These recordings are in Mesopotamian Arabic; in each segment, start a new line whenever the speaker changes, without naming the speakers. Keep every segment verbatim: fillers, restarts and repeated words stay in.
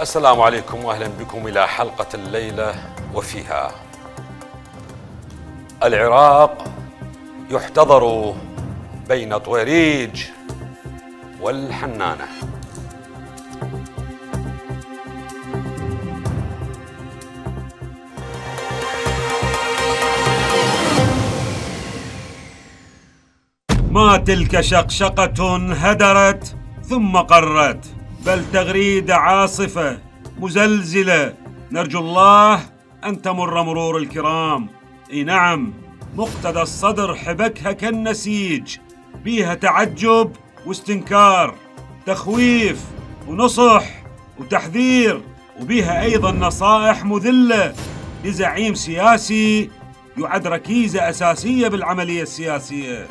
السلام عليكم واهلا بكم الى حلقة الليلة وفيها العراق يحتضر بين طويريج والحنانة.
ما تلك شقشقة هدرت ثم قرت، بل تغريدة عاصفة مزلزلة نرجو الله أن تمر مرور الكرام. اي نعم، مقتدى الصدر حبكها كالنسيج، بيها تعجب واستنكار، تخويف ونصح وتحذير، وبيها أيضا نصائح مذلة لزعيم سياسي يعد ركيزة أساسية بالعملية السياسية.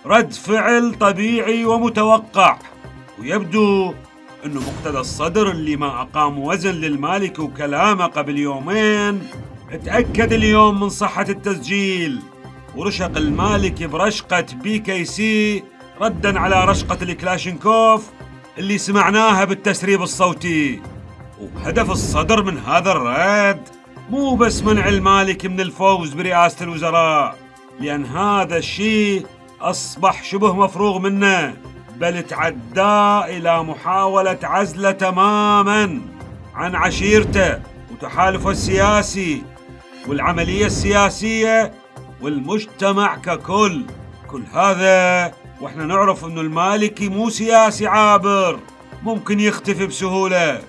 رد فعل طبيعي ومتوقع، ويبدو أنه مقتدى الصدر اللي ما أقام وزن للمالكي وكلامه قبل يومين اتأكد اليوم من صحة التسجيل، ورشق المالكي برشقة بي كي سي ردا على رشقة الكلاشينكوف اللي سمعناها بالتسريب الصوتي. وهدف الصدر من هذا الرد مو بس منع المالكي من الفوز برئاسة الوزراء، لأن هذا الشيء أصبح شبه مفروغ منه، بل تعدى إلى محاولة عزله تماماً عن عشيرته وتحالفه السياسي والعملية السياسية والمجتمع ككل. كل هذا وإحنا نعرف أنه المالكي مو سياسي عابر ممكن يختفي بسهولة،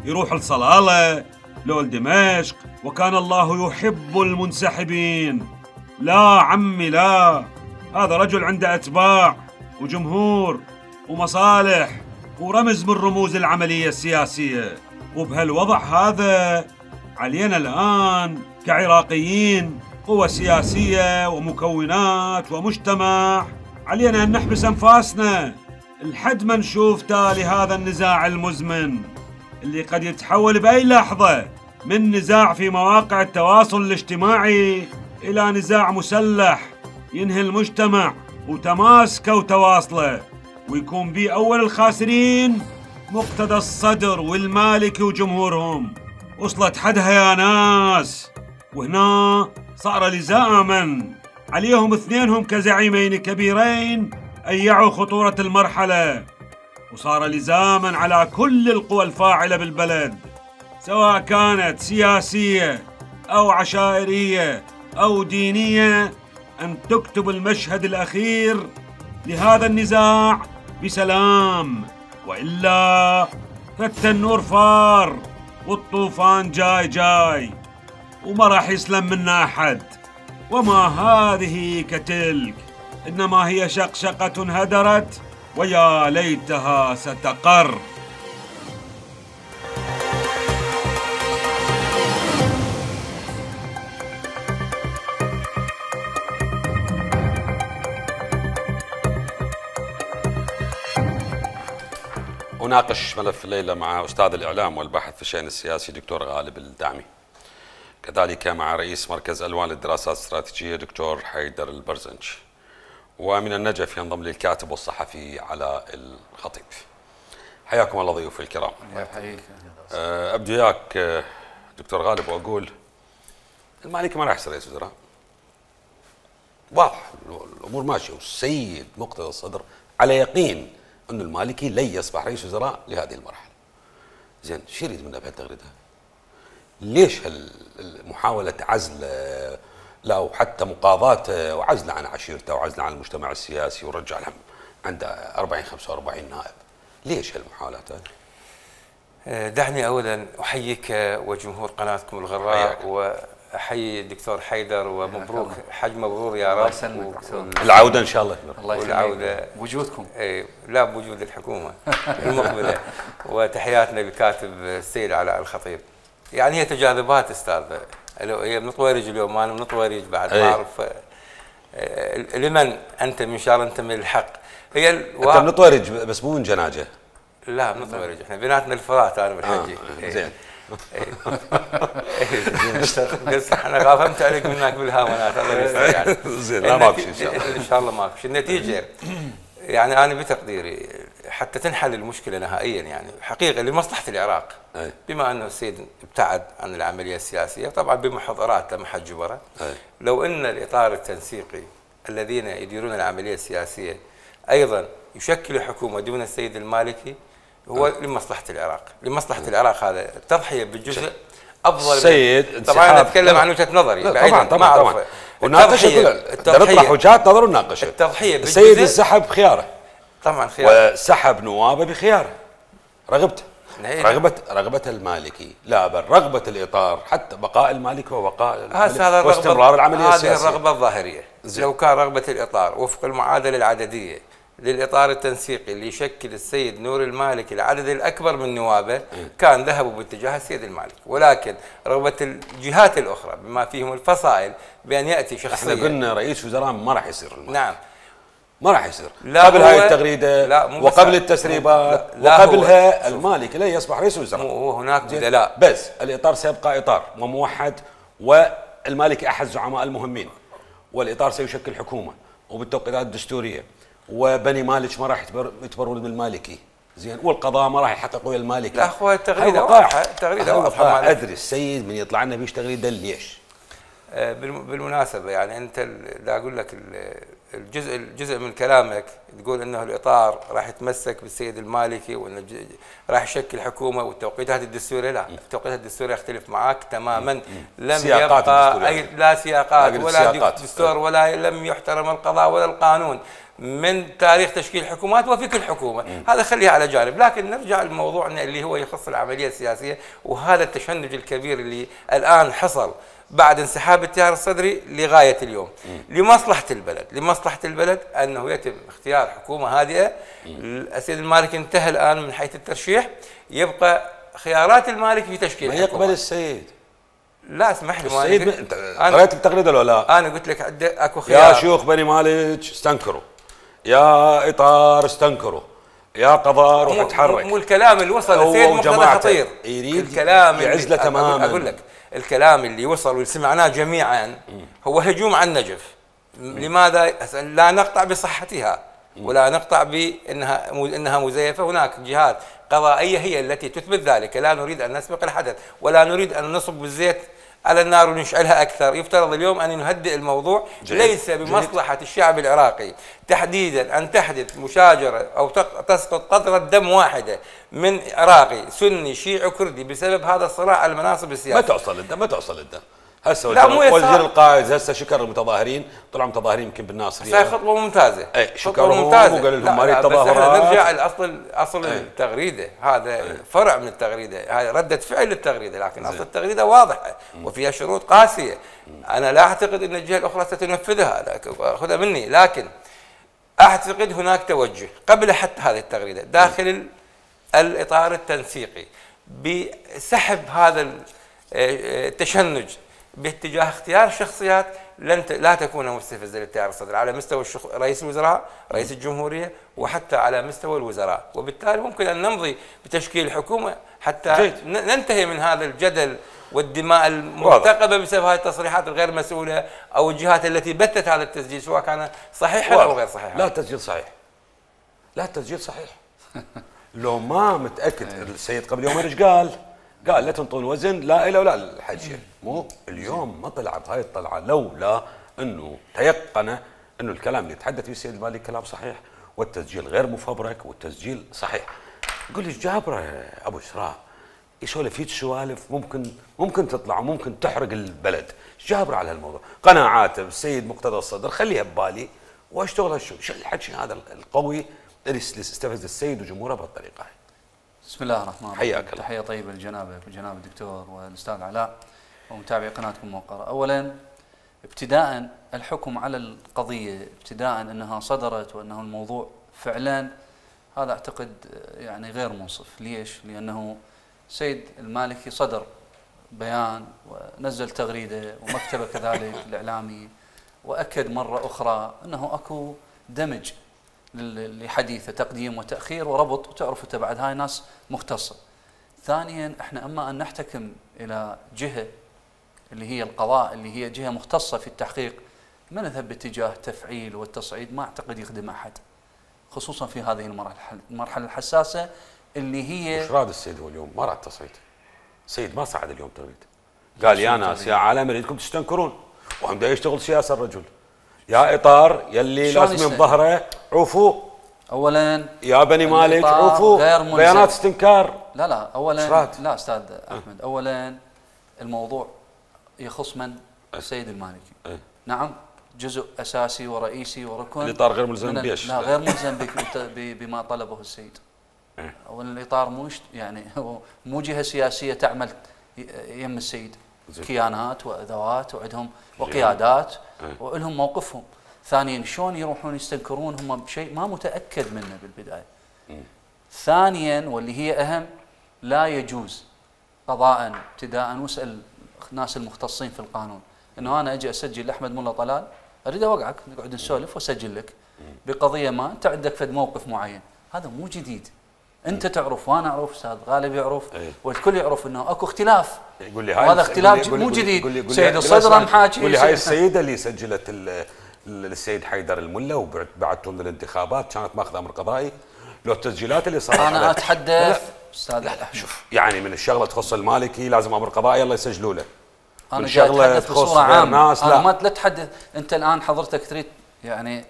يروح لصلالة لو لدمشق، وكان الله يحب المنسحبين. لا عمي لا، هذا رجل عنده أتباع وجمهور ومصالح ورمز من رموز العملية السياسية. وبهالوضع هذا علينا الآن كعراقيين، قوى سياسية ومكونات ومجتمع، علينا أن نحبس أنفاسنا لحد ما نشوف تالي هذا النزاع المزمن اللي قد يتحول بأي لحظة من نزاع في مواقع التواصل الاجتماعي إلى نزاع مسلح ينهي المجتمع وتماسكه وتواصله، ويكون بيه أول الخاسرين مقتدى الصدر والمالكي وجمهورهم. وصلت حدها يا ناس، وهنا صار لزاما عليهم اثنينهم كزعيمين كبيرين أن يعوا خطورة المرحلة، وصار لزاما على كل القوى الفاعلة بالبلد سواء كانت سياسية أو عشائرية أو دينية أن تكتب المشهد الأخير لهذا النزاع بسلام، وإلا فالتنور فار والطوفان جاي جاي وما راح يسلم منا أحد. وما هذه كتلك، إنما هي شقشقة هدرت ويا ليتها ستقر.
أناقش ملف الليلة مع أستاذ الإعلام والباحث في الشأن السياسي دكتور غالب الدعمي، كذلك مع رئيس مركز ألوان للدراسات الاستراتيجية دكتور حيدر البرزنج، ومن النجف ينضم لي الكاتب والصحفي علاء الخطيب. حياكم الله ضيوفي الكرام.
يحييك.
أبدو وياك دكتور غالب وأقول المالكي ما راح يصير رئيس وزراء، واضح الأمور ماشية، والسيد مقتدى الصدر على يقين أن المالكي لن يصبح رئيس وزراء لهذه المرحلة. زين، شو يريد منا بهالتغريدة؟ ليش هالمحاولة عزل لا وحتى مقاضاته وعزله عن عشيرته وعزله عن المجتمع السياسي ورجع لهم عنده أربعين خمسة وأربعين نائب؟ ليش هالمحاولات هذه؟
دعني أولا أحييك وجمهور قناتكم الغراء، وأحيي الدكتور حيدر ومبروك، حج مبرور يا رب.
العودة إن شاء الله.
الله والعودة
وجودكم.
لا، بوجود الحكومة المقبلة. وتحياتنا للكاتب السيد علاء الخطيب. يعني هي تجاذبات استاذ، هي من طويرج اليوم، انا من طويرج بعد ما اعرف لمن انت من شاء الله انت من الحق. هي
الوا... انت من طويرج بس مو من جناجه.
لا من طويرج، احنا بيناتنا الفرات انا والحجي.
آه. زين.
بس انا غافمت عليك منك بالهاونات، الله يستر يعني.
زين، لا ماكو شيء ان شاء الله.
ان شاء الله ماكو شيء. النتيجه يعني انا بتقديري حتى تنحل المشكله نهائيا يعني حقيقه لمصلحه العراق.
أي.
بما انه السيد ابتعد عن العمليه السياسيه طبعا بمحاضرات ما حد جبره. لو ان الاطار التنسيقي الذين يديرون العمليه السياسيه ايضا يشكلوا حكومه دون السيد المالكي هو أي. لمصلحه العراق، لمصلحه أي. العراق هذا التضحيه بالجزء افضل.
السيد
طبعا انا اتكلم عن وجهه نظري
طبعا طبعا طبعا وناقشها نطرح وجهات نظر وناقشها.
التضحيه
السيد انسحب بخياره
طبعا خياره
وسحب نوابه بخياره رغبته رغبه رغبه المالكي لا بل رغبه الاطار حتى بقاء المالكي وبقاء
هذا
واستمرار العمليه السياسيه.
هذه الرغبه الظاهريه. زي. لو كان رغبه الاطار وفق المعادله العدديه للاطار التنسيقي اللي يشكل السيد نور المالكي العدد الاكبر من نوابه كان ذهبوا باتجاه السيد المالكي، ولكن رغبه الجهات الاخرى بما فيهم الفصائل بان ياتي شخصيا.
احنا قلنا رئيس وزراء ما راح يصير المالكي.
نعم
ما راح يصير قبل هاي التغريده وقبل التسريبات وقبلها المالكي لا يصبح رئيس وزراء.
وهناك بدلاء
بس الاطار سيبقى اطار وموحد والمالكي احد الزعماء المهمين والاطار سيشكل حكومه وبالتوقيتات الدستوريه وبني مالك ما راح يتبرون بالمالكي زين والقضاء ما راح يحقق ويا المالكي.
لا اخوي التغريده واضحه التغريده واضحه.
ادري السيد من يطلع لنا بيش تغريده ليش؟
بالمناسبه يعني انت لا اقول لك الجزء الجزء من كلامك تقول انه الاطار راح يتمسك بالسيد المالكي وانه راح يشكل حكومه والتوقيتات الدستوريه. لا التوقيتات الدستوريه اختلف معك تماما. لم يبقى اي لا سياقات ولا دستور ولا لم يحترم القضاء ولا القانون من تاريخ تشكيل الحكومات وفي كل حكومه. هذا خليها على جانب، لكن نرجع لموضوعنا اللي هو يخص العمليه السياسيه وهذا التشنج الكبير اللي الان حصل بعد انسحاب التيار الصدري لغايه اليوم. لمصلحه البلد، لمصلحه البلد انه يتم اختيار حكومه هادئه. السيد المالكي انتهى الان من حيث الترشيح، يبقى خيارات المالكي في تشكيل
ما يقبل السيد.
لا اسمح لي
السيد انت قريت التغريده ولا لا؟
انا قلت لك اكو خيار.
يا شيوخ بني مالك استنكروا، يا اطار استنكروا، يا قضاء روح اتحرك.
مو الكلام اللي وصل للسيد مقتدى خطير
يريد
الكلام
يعزله تماما.
اقول لك الكلام اللي وصل وسمعناه جميعا هو هجوم على النجف. لماذا؟ لا نقطع بصحتها ولا نقطع بانها انها مزيفه. هناك جهات قضائيه هي التي تثبت ذلك. لا نريد ان نسبق الحدث ولا نريد ان نصب بالزيت على النار ونشعلها اكثر. يفترض اليوم ان نهدئ الموضوع. جيد. ليس بمصلحه جيد. الشعب العراقي تحديدا ان تحدث مشاجره او تسقط قطره دم واحده من عراقي سني شيعي كردي بسبب هذا الصراع على المناصب السياسيه.
ما توصل الدم، ما توصل الدم. هسه وزير القائد هسه شكر المتظاهرين، طلعوا متظاهرين يمكن بالناصريه.
هاي خطوه ممتازه.
اي شكرهم وقال لهم هذه التظاهرات.
نرجع لاصل اصل أي. التغريده، هذا أي. فرع من التغريده، هاي رده فعل للتغريده، لكن اصل التغريده واضحه وفيها شروط قاسيه. انا لا اعتقد ان الجهه الاخرى ستنفذها، خذها مني، لكن اعتقد هناك توجه قبل حتى هذه التغريده داخل الاطار التنسيقي بسحب هذا التشنج باتجاه اختيار شخصيات لن لا تكون مستفزه للتيار الصدري على مستوى الشخ... رئيس الوزراء، رئيس الجمهوريه، وحتى على مستوى الوزراء، وبالتالي ممكن ان نمضي بتشكيل حكومه حتى جيد. ننتهي من هذا الجدل والدماء المرتقبه بسبب هذه التصريحات الغير مسؤوله او الجهات التي بثت هذا التسجيل سواء كان صحيحا او غير صحيحا.
لا التسجيل صحيح. لا التسجيل صحيح. لو ما متاكد السيد قبل يومين ايش قال؟ قال لا تنطون وزن لا إله ولا الحجة. مو اليوم ما طلعت هاي الطلعة لولا أنه تيقن أنه الكلام اللي يتحدث فيه السيد المالكي كلام صحيح والتسجيل غير مفبرك والتسجيل صحيح. قول لي جابره يا أبو إسراء يسولف هيك سوالف ممكن ممكن تطلع وممكن تحرق البلد. جابره على هالموضوع قناعاته بالسيد مقتدى الصدر خليها ببالي واشتغل شو شو الحكي هذا القوي اللي استفز السيد وجمهوره بهالطريقة.
بسم الله الرحمن الرحيم.
حياك الله.
تحية طيبة لجنابك وجناب الدكتور والأستاذ علاء ومتابعي قناتكم موقرة. أولا ابتداء الحكم على القضية ابتداء أنها صدرت وأنه الموضوع فعلا هذا أعتقد يعني غير منصف. ليش؟ لأنه سيد المالكي صدر بيان ونزل تغريدة ومكتبه كذلك الإعلامي وأكد مرة أخرى أنه أكو دمج لحديثه تقديم وتأخير وربط، وتعرف انت بعد هاي ناس مختصة. ثانيا احنا اما ان نحتكم الى جهة اللي هي القضاء اللي هي جهة مختصة في التحقيق، ما نذهب باتجاه تفعيل والتصعيد ما اعتقد يخدم احد. خصوصا في هذه المرحله المرحله الحساسه اللي هي.
وش راد السيد هو اليوم؟ ما راد تصعيد. السيد ما صعد اليوم تغريد. قال يا ناس يا عالم اريدكم تستنكرون، وهم دا يشتغل سياسه الرجل. يا اطار يلي لازم بظهره عوفوا.
اولا
يا بني مالك عوفوا بيانات استنكار.
لا لا اولا لا استاذ احمد، اولا الموضوع يخص من؟ السيد المالكي.
أه.
نعم جزء اساسي ورئيسي وركن.
الاطار غير ملزم بيش.
لا غير ملزم بما طلبه السيد. أه. اولا الاطار مو يعني هو مو جهه سياسيه تعمل يم السيد. زي. كيانات وادوات وعندهم وقيادات أه. ولهم موقفهم. ثانيا شلون يروحون يستنكرون هم بشيء ما متاكد منه بالبدايه. م. ثانيا واللي هي اهم، لا يجوز قضاء ابتداء، واسال الناس المختصين في القانون، انه انا اجي اسجل احمد ملا طلال اريد اوقعك نقعد نسولف واسجل لك بقضيه ما انت عندك فد موقف معين، هذا مو جديد. انت تعرف وانا اعرف، استاذ غالب يعرف،
أيه.
والكل يعرف انه اكو اختلاف.
يقول لي هاي
هذا اختلاف مو جديد. سيد الصدر محاكي.
يقول لي هاي السيده اللي سجلت للسيد حيدر الملا وبعتهم للانتخابات كانت ماخذه امر قضائي. لو التسجيلات اللي صارت
انا اتحدث استاذ
لا لا شوف، يعني من الشغله تخص المالكي لازم امر قضائي الله يسجلوا له.
انا جاي اتحدث بصوره عامه. انا ما لا تحدث انت الان حضرتك تريد يعني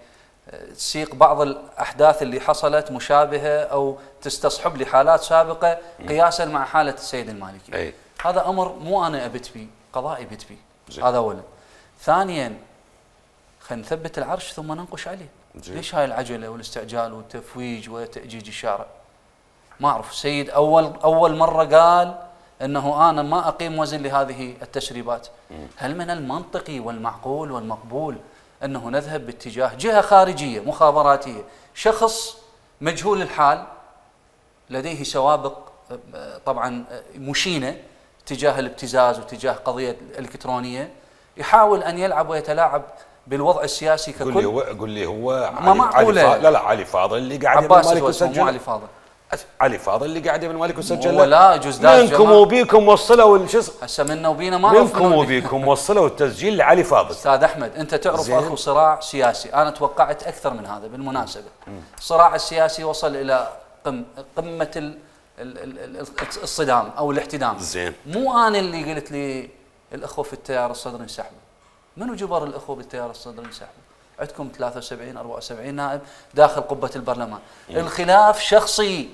تسيق بعض الاحداث اللي حصلت مشابهه او تستصحب لي حالات سابقه قياسا مع حاله السيد المالكي.
أي.
هذا امر مو انا ابت بيه، قضائي بت بيه. هذا اولا. ثانيا خلينا نثبت العرش ثم ننقش عليه. جي. ليش هاي العجله والاستعجال والتفويج وتأجيج الشارع؟ ما اعرف. السيد اول اول مره قال انه انا ما اقيم وزن لهذه التسريبات. م. هل من المنطقي والمعقول والمقبول انه نذهب باتجاه جهه خارجيه مخابراتيه، شخص مجهول الحال لديه سوابق طبعا مشينه تجاه الابتزاز وتجاه قضيه الالكترونيه، يحاول ان يلعب ويتلاعب بالوضع السياسي ككل؟
قول لي هو قول لي هو
ما معقوله.
لا لا علي فاضل اللي قاعد
يبن مالك وسجل. مو علي فاضل،
علي فاضل اللي قاعد يبن مالك وسجل.
ولا جزداز
منكم وبيكم وصلوا الشيء
هسه منا وبينا ما
منكم وبيكم وصلوا التسجيل لعلي فاضل.
استاذ احمد انت تعرف اخو صراع سياسي، انا توقعت اكثر من هذا بالمناسبه. الصراع السياسي وصل الى قم قمه ال ال ال الصدام او الاحتدام.
زين.
مو انا اللي قلت لي الاخوه في التيار الصدري انسحبوا. منو جبر الاخوه بالتيار الصدري انسحبوا؟ عندكم ثلاثة وسبعين أربعة وسبعين نائب داخل قبه البرلمان. مم. الخلاف شخصي.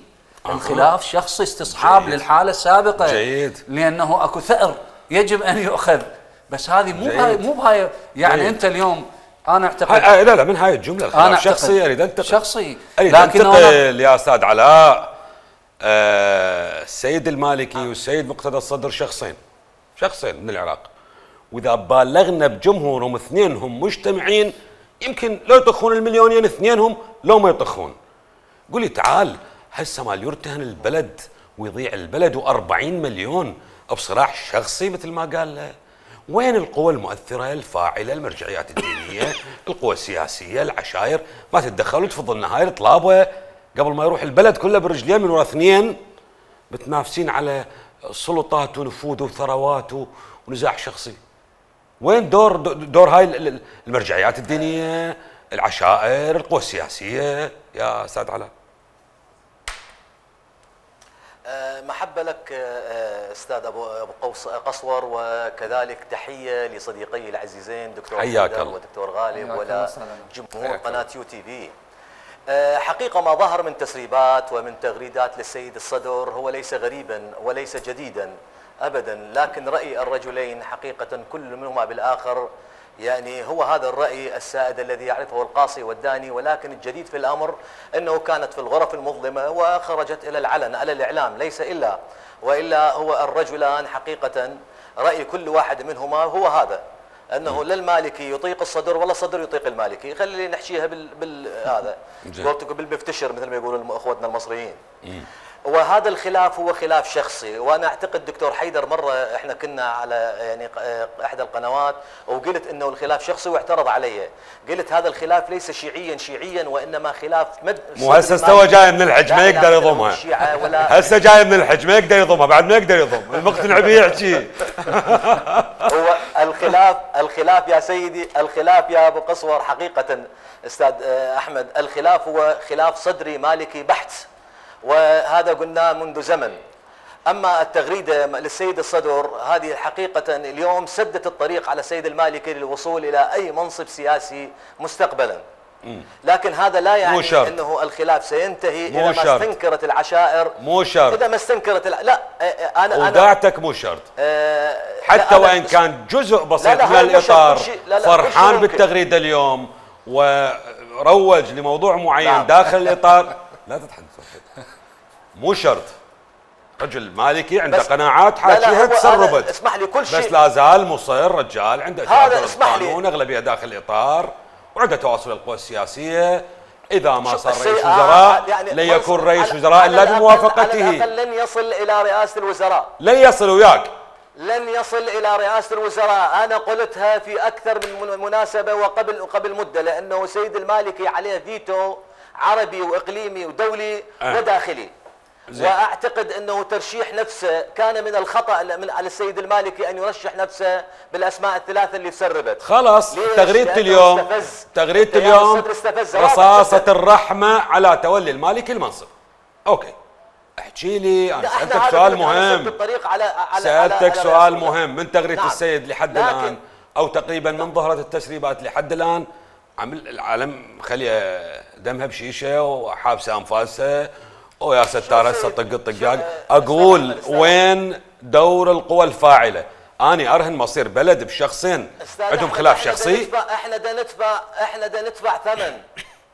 أه. الخلاف شخصي استصحاب جيد. للحاله السابقه.
جيد.
لانه اكو ثأر يجب ان يؤخذ، بس هذه مو بهاي مو بهاي يعني جيد. انت اليوم انا اعتقد
لا لا من هاي الجمله الخلاف شخصي اريد انتقل
شخصي
اريد انتقل يا استاذ علاء. آه السيد المالكي آه. والسيد مقتدى الصدر شخصين شخصين من العراق، واذا بالغنا بجمهورهم اثنينهم مجتمعين يمكن لو يطخون المليونين اثنينهم لو ما يطخون. قولي تعال هسه مال يرتهن البلد ويضيع البلد وأربعين مليون بصراع شخصي مثل ما قال له. وين القوى المؤثره الفاعله المرجعيات الدينيه القوى السياسيه العشائر ما تتدخلوا تفضلنا هاي الطلابه قبل ما يروح البلد كله برجلين من ورا اثنين متنافسين على سلطات ونفوذ وثروات ونزاع شخصي. وين دور دور هاي المرجعيات الدينيه العشائر القوى السياسيه يا استاذ علاء؟
محبه لك استاذ ابو ابو قوس قصور، وكذلك تحيه لصديقي العزيزين دكتور حيدر ودكتور غالب ولا جمهور قناه يو تي في. حقيقه ما ظهر من تسريبات ومن تغريدات للسيد الصدر هو ليس غريبا وليس جديدا ابدا، لكن راي الرجلين حقيقه كل منهما بالاخر يعني هو هذا الرأي السائد الذي يعرفه القاصي والداني، ولكن الجديد في الأمر أنه كانت في الغرف المظلمة وخرجت إلى العلن على الإعلام، ليس إلا وإلا هو الرجلان حقيقة رأي كل واحد منهما هو هذا، أنه لا المالكي يطيق الصدر ولا الصدر يطيق المالكي. خلي نحكيها بال, بال... هذا بالمفتشر مثل ما يقولوا أخوتنا المصريين. وهذا الخلاف هو خلاف شخصي، وانا اعتقد دكتور حيدر مره احنا كنا على يعني احدى القنوات وقلت انه الخلاف شخصي واعترض علي، قلت هذا الخلاف ليس شيعيا شيعيا وانما خلاف مد
مو هسه استوى جاي من الحج ما يقدر يضمها، هسه جاي من الحج ما يقدر يضمها بعد ما يقدر يضم المقتنع به يحكي.
هو الخلاف الخلاف يا سيدي، الخلاف يا ابو قصور حقيقه استاذ احمد، الخلاف هو خلاف صدري مالكي بحت، وهذا قلناه منذ زمن. اما التغريده للسيد الصدر هذه حقيقه اليوم سدت الطريق على السيد المالكي للوصول الى اي منصب سياسي مستقبلا. لكن هذا لا يعني انه الخلاف سينتهي اذا ما استنكرت العشائر.
مو شرط.
اذا ما استنكرت الع... لا انا انا
وداعتك مو شرط. أه حتى وان كان جزء بسيط من الاطار لا لا فرحان بالتغريده اليوم وروج لموضوع معين نعم. داخل الاطار لا تضحك. مو شرط. رجل مالكي عنده قناعات حاكيها تسربت.
اسمح لي كل شيء
بس لا زال مصر رجال عنده
هذا اسمح لي
قانون اغلبيه داخل الاطار وعنده تواصل القوى السياسيه. اذا ما صار رئيس وزراء يعني لن يكون رئيس وزراء الا بموافقته.
على الأقل لن يصل الى رئاسه الوزراء.
لن يصل وياك.
لن يصل الى رئاسه الوزراء، انا قلتها في اكثر من مناسبه وقبل قبل مده، لانه سيد المالكي عليه فيتو عربي واقليمي ودولي أه. وداخلي. زي. واعتقد انه ترشيح نفسه كان من الخطا من على السيد المالكي ان يرشح نفسه بالاسماء الثلاثه اللي تسربت.
خلاص تغريده اليوم تغريده اليوم رصاصه الرحمه على تولي المالكي المنصب. اوكي احكي لي انا سالتك سؤال مهم.
على على
سالتك على سؤال على مهم من تغريده نعم. السيد لحد الان او تقريبا من ظهرت التسريبات لحد الان عمل العالم خلي دمها بشيشه وحابسه انفاسها ويا ستار هسه طق الطقاق. اقول وين دور القوى الفاعله؟ اني ارهن مصير بلد بشخصين عندهم خلاف شخصي.
احنا دا ندفع احنا دا ندفع ثمن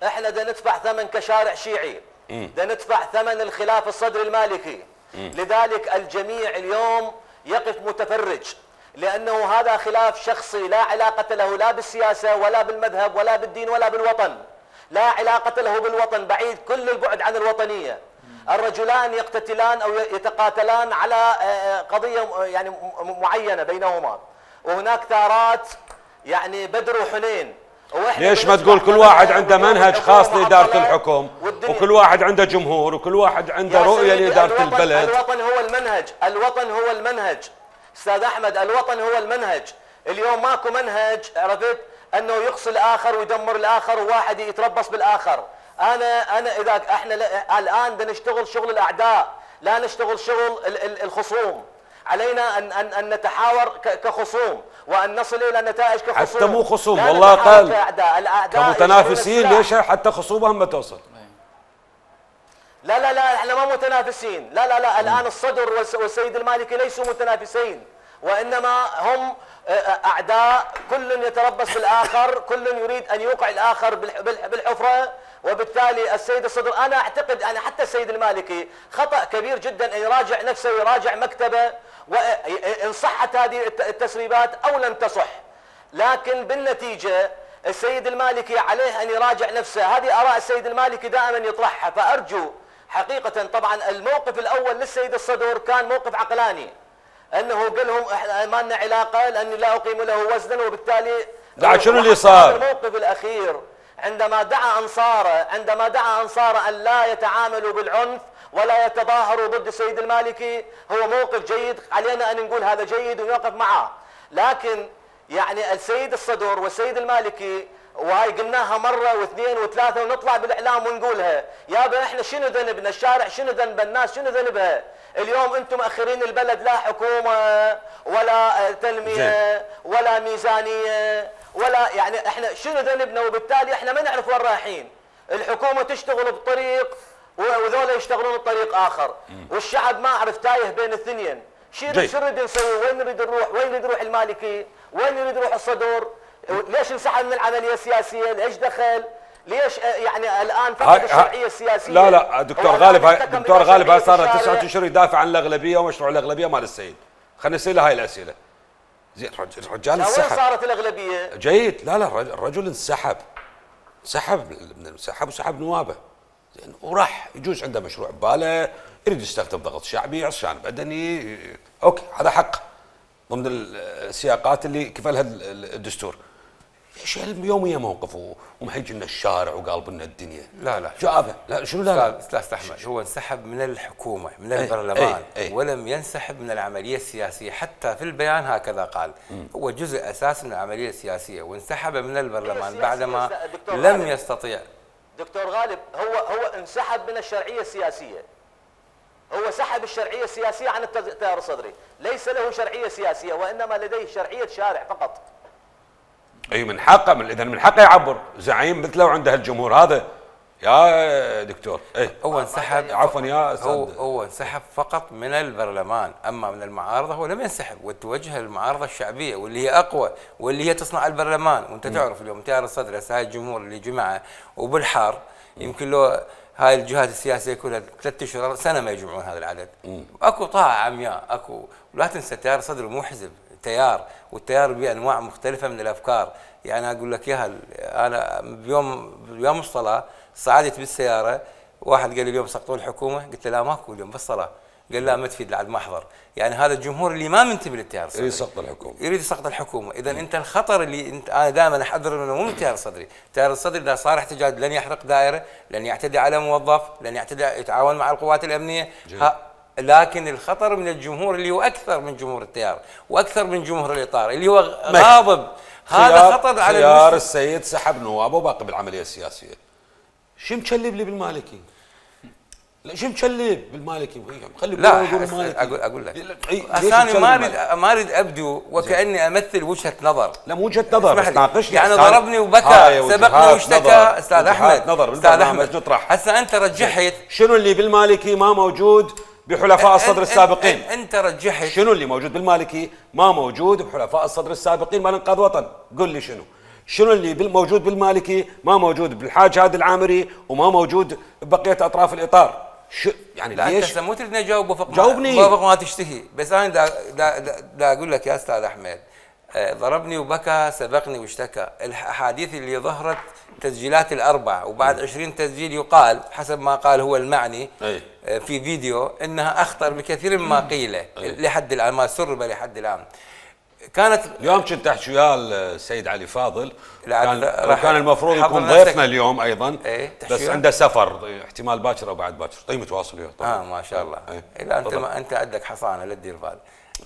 احنا دا ندفع ثمن كشارع شيعي، دا ندفع ثمن الخلاف الصدري المالكي. م. لذلك الجميع اليوم يقف متفرج، لانه هذا خلاف شخصي لا علاقه له لا بالسياسه ولا بالمذهب ولا بالدين ولا بالوطن، لا علاقه له بالوطن، بعيد كل البعد عن الوطنيه. الرجلان يقتتلان او يتقاتلان على قضيه يعني معينه بينهما، وهناك ثارات يعني بدر وحنين.
ليش ما تقول كل واحد عنده منهج خاص لاداره الحكم وكل واحد عنده جمهور وكل واحد عنده رؤيه لاداره البلد؟
الوطن هو المنهج، الوطن هو المنهج استاذ احمد، الوطن هو المنهج. اليوم ماكو منهج عرفت انه يقصي الاخر ويدمر الاخر وواحد يتربص بالاخر. انا انا اذا احنا الان بدنا نشتغل شغل الاعداء، لا نشتغل شغل الخصوم. علينا ان ان ان نتحاور كخصوم وان نصل الى نتائج كخصوم.
حتى مو خصوم والله قال كمتنافسين. ليش حتى خصوبهم ما توصل؟
لا لا لا احنا ما متنافسين، لا لا لا الان الصدر والسيد المالكي ليسوا متنافسين، وانما هم اعداء، كل يتربص بالاخر، كل يريد ان يوقع الاخر بالحفره. وبالتالي السيد الصدر انا اعتقد انا حتى السيد المالكي خطا كبير جدا ان يراجع نفسه ويراجع مكتبه، وان صحت هذه التسريبات او لم تصح. لكن بالنتيجه السيد المالكي عليه ان يراجع نفسه، هذه اراء السيد المالكي دائما يطرحها. فارجو حقيقه طبعا الموقف الاول للسيد الصدر كان موقف عقلاني، انه قال لهم احنا ما لنا علاقه لاني لا اقيم له وزنا، وبالتالي
بعد شنو اللي صار؟
الموقف الاخير عندما دعا انصاره عندما دعا انصاره ان لا يتعاملوا بالعنف ولا يتظاهروا ضد السيد المالكي، هو موقف جيد، علينا ان نقول هذا جيد ونوقف معه. لكن يعني السيد الصدر والسيد المالكي، وهاي قلناها مره واثنين وثلاثه ونطلع بالاعلام ونقولها، يابا احنا شنو ذنبنا؟ الشارع شنو ذنب؟ الناس شنو ذنبها؟ اليوم انتم مأخرين البلد، لا حكومه ولا تنميه ولا ميزانيه ولا يعني احنا شنو ذنبنا؟ وبالتالي احنا ما نعرف وين رايحين. الحكومه تشتغل بطريق وذولا يشتغلون بطريق اخر، والشعب ما عرف تايه بين الاثنين. شو نريد نسوي؟ وين نريد نروح؟ وين يريد يروح المالكي؟ وين يريد يروح الصدر؟ ليش انسحب من العمليه السياسيه؟ ليش دخل؟ ليش يعني الان فقد الشرعيه السياسيه؟
لا لا دكتور غالب دكتور غالب هاي صار تسعة اشهر يدافع عن الاغلبيه ومشروع الاغلبيه مال السيد. خلينا نسال هاي الاسئله. زين الرجال انسحب.
وين صارت الاغلبيه؟
جيد. لا لا الرجل انسحب انسحب انسحب وسحب نوابه. زين وراح يجوز عنده مشروع بباله، يريد يستخدم ضغط شعبي، عصيان بدني، اوكي هذا حق ضمن السياقات اللي كفلها الدستور. ايش يوميا موقفه ومحيج لنا الشارع وقالب لنا الدنيا.
لا لا
جابه لا شنو لا لا
استاذ احمد، هو انسحب من الحكومه من البرلمان
أي أي
ولم ينسحب من العمليه السياسيه، حتى في البيان هكذا قال. م. هو جزء اساسي من العمليه السياسيه وانسحب من البرلمان بعدما لم يستطيع.
دكتور غالب، هو هو انسحب من الشرعيه السياسيه. هو سحب الشرعيه السياسيه عن التيار الصدري، ليس له شرعيه سياسيه وانما لديه شرعيه شارع فقط.
اي من حقه، من اذا من حقه يعبر زعيم مثله وعنده الجمهور هذا يا دكتور. اي
هو انسحب
عفوا يا استاذ،
هو هو انسحب فقط من البرلمان، اما من المعارضه هو لم ينسحب، وتوجه للمعارضه الشعبيه واللي هي اقوى واللي هي تصنع البرلمان. وانت م. تعرف اليوم تيار الصدر هسه هاي الجمهور اللي جمعه وبالحار م. يمكن له هاي الجهات السياسيه كلها ثلاث اشهر سنه ما يجمعون هذا العدد. م. اكو طاعه عمياء اكو، ولا تنسى تيار الصدر مو حزب، تيار، والتيار بانواع مختلفه من الافكار. يعني اقول لك اياها، انا بيوم بيوم الصلاه صعدت بالسياره، واحد قال لي اليوم سقطوا الحكومه، قلت له لا ماكو اليوم بالصلاه، قال لا ما تفيد لعد ما احضر. يعني هذا الجمهور اللي ما منتبه للتيار الصدري
يريد سقط الحكومه،
يريد سقط الحكومه. اذا انت الخطر اللي انت انا دائما احذر منه مو من التيار الصدري، التيار الصدري اذا صار احتجاج لن يحرق دائره، لن يعتدي على موظف، لن يعتدي يتعاون مع القوات الامنيه. لكن الخطر من الجمهور اللي هو اكثر من جمهور التيار واكثر من جمهور الاطار اللي هو غاضب. هذا خطر على
خيار السيد سحب نوابه وباقي بالعمليه السياسيه. شو مكلب لي بالمالكي؟ لا شو مكلب بالمالكي؟ خلي
لا اقول اقول لك انا ما اريد ما اريد ابدو وكاني امثل وجهه نظر.
لا مو وجهه نظر،
تناقشني يعني ضربني وبكى سبقني واشتكى. استاذ احمد استاذ احمد هسه انت رجحت
شنو اللي بالمالكي ما موجود بحلفاء الصدر السابقين؟
انت رجحت
شنو اللي موجود بالمالكي ما موجود بحلفاء الصدر السابقين مال انقاذ وطن؟ قل لي شنو؟ شنو اللي موجود بالمالكي ما موجود بالحاج هادي العامري وما موجود ببقيه اطراف الاطار؟ شو يعني
لا
ليش؟
انت مو تريد نجاوب وفق
جاوبني
وفق ما تشتهي، بس انا دا, دا, دا, دا اقول لك يا استاذ احمد، ضربني وبكى سبقني واشتكى. الاحاديث اللي ظهرت تسجيلات الاربع وبعد عشرين تسجيل يقال حسب ما قال هو المعني
أي.
في فيديو انها اخطر بكثير مما قيل لحد الان، ما سرب لحد الان. كانت
اليوم كنت احكي ويا السيد علي فاضل، كان كان المفروض يكون ضيفنا اليوم ايضا
ايه
بس عنده سفر احتمال باكر او بعد باكر. طيب متواصل وياه
طبعا. اه ما شاء الله. ايه لا انت ما انت عندك حصانه لا تدير بال.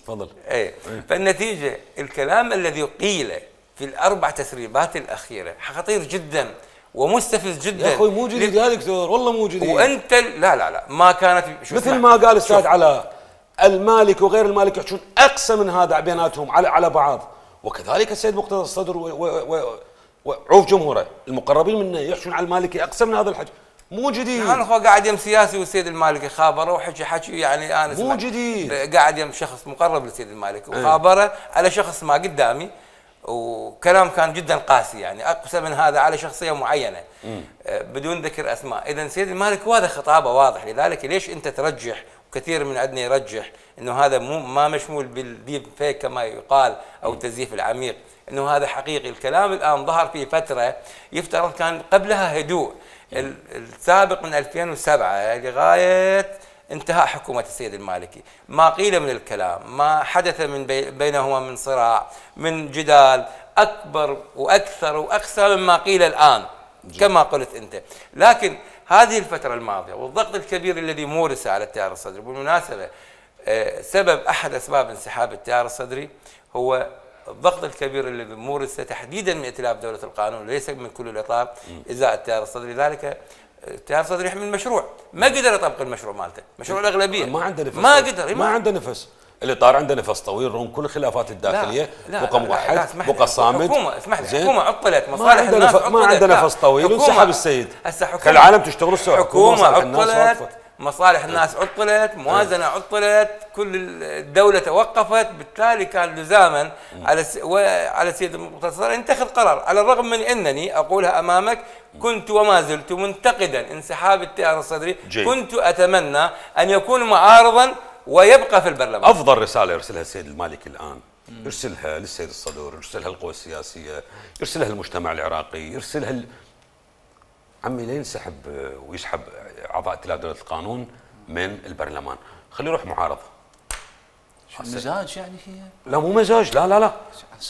تفضل.
ايه, ايه. فالنتيجه الكلام الذي قيل في الاربع تسريبات الاخيره خطير جدا ومستفز جدا
يا اخوي. مو جديد يا دكتور، والله مو جديد.
وانت لا لا لا ما كانت
مثل ما قال الاستاذ علاء، المالك وغير المالك يحجون اقسى من هذا بيناتهم على على بعض، وكذلك السيد مقتدى الصدر وعوف جمهوره المقربين منه يحجون على المالكي اقسى من هذا الحكي. مو جديد.
يعني هو قاعد يم سياسي والسيد المالكي خابره وحكي حكي يعني انا
مو جديد.
قاعد يم شخص مقرب للسيد المالكي وخابره على شخص ما قدامي، وكلام كان جدا قاسي يعني اقسى من هذا على شخصيه معينه بدون ذكر اسماء. اذا سيد المالكي وهذا خطابه واضح، لذلك ليش انت ترجح كثير من عندنا يرجح انه هذا مو ما مشمول بالديب فيك كما يقال او التزييف العميق، انه هذا حقيقي. الكلام الان ظهر في فتره يفترض كان قبلها هدوء. السابق من ألفين وسبعة لغايه انتهاء حكومه السيد المالكي ما قيل من الكلام، ما حدث من بي بينهما من صراع من جدال اكبر واكثر واقسى مما قيل الان كما قلت انت. لكن هذه الفترة الماضية والضغط الكبير الذي مورس على التيار الصدري، بالمناسبة سبب أحد أسباب انسحاب التيار الصدري هو الضغط الكبير الذي مورس تحديدا من ائتلاف دولة القانون ليس من كل الإطار إزاء التيار الصدري. لذلك التيار الصدري يحمل مشروع ما قدر يطبق المشروع مالته، مشروع الأغلبية
ما عنده نفس،
ما قدر،
ما عنده نفس. الاطار عنده نفس طويل رغم كل الخلافات الداخليه، بقى موحد بقى صامد.
الحكومه اسمح لي، الحكومه عطلت، مصالح الناس عطلت،
ما عنده نفس طويل وانسحب السيد. خلي العالم تشتغل السوق.
حكومه عطلت، مصالح الناس عطلت، موازنه عطلت، كل الدوله توقفت، بالتالي كان لزاما على على السيد المقتدى ان يتخذ قرار، على الرغم من انني اقولها امامك كنت وما زلت منتقدا انسحاب التيار الصدري. كنت اتمنى ان يكون معارضا ويبقى في البرلمان.
افضل رساله يرسلها السيد المالكي الان يرسلها للسيد الصدر، يرسلها القوى السياسيه، يرسلها للمجتمع العراقي، يرسلها ل... عمي لا ينسحب ويسحب اعضاء ائتلاف دوله القانون من البرلمان، خليه يروح معارضه.
مزاج يعني هي؟
لا مو مزاج، لا لا لا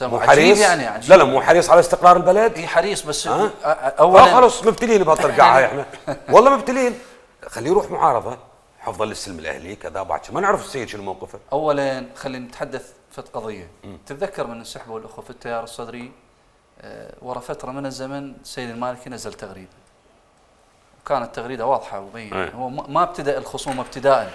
مو حريص يعني عجيب.
لا لا مو حريص على استقرار البلد.
اي حريص بس
أه؟
اولا
آه خلص مبتلين بهالطرقعه هاي احنا والله مبتلين. خليه يروح معارضه حفظا للسلم الاهلي كذا بعد ما نعرف السيد شنو موقفه.
اولا خلينا نتحدث في قضيه. تتذكر من انسحبوا الاخوه في التيار الصدري أه ورا فتره من الزمن السيد المالكي نزل تغريده. وكانت تغريده واضحه ومبينه، هو ما ابتدا الخصومه ابتداء،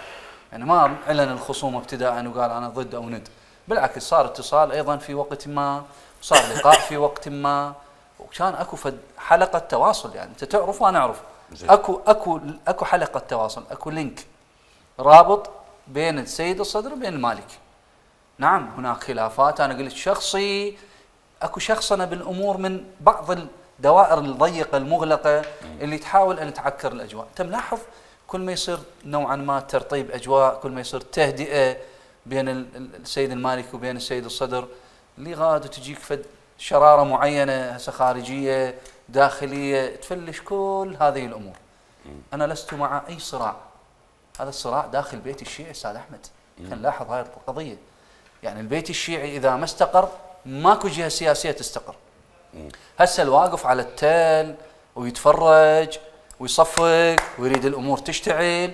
يعني ما اعلن الخصومه ابتداء وقال انا ضد او ند، بالعكس صار اتصال ايضا في وقت ما، وصار لقاء في وقت ما، وكان اكو فد حلقه تواصل، يعني انت تعرف وانا اعرف. اكو اكو اكو حلقه تواصل، اكو لينك رابط بين السيد الصدر وبين المالكي. نعم هناك خلافات، انا قلت شخصي، اكو شخصنه بالامور من بعض الدوائر الضيقه المغلقه اللي تحاول ان تعكر الاجواء. انت ملاحظ كل ما يصير نوعا ما ترطيب اجواء، كل ما يصير تهدئه بين السيد المالكي وبين السيد الصدر، اللي غاد وتجيك فد شراره معينه هسه خارجيه داخليه تفلش كل هذه الامور. انا لست مع اي صراع، هذا الصراع داخل بيت الشيعي استاذ احمد. خلينا نلاحظ هاي القضيه، يعني البيت الشيعي اذا ما استقر ماكو جهه سياسيه تستقر. هسه الواقف على التل ويتفرج ويصفق ويريد الامور تشتعل،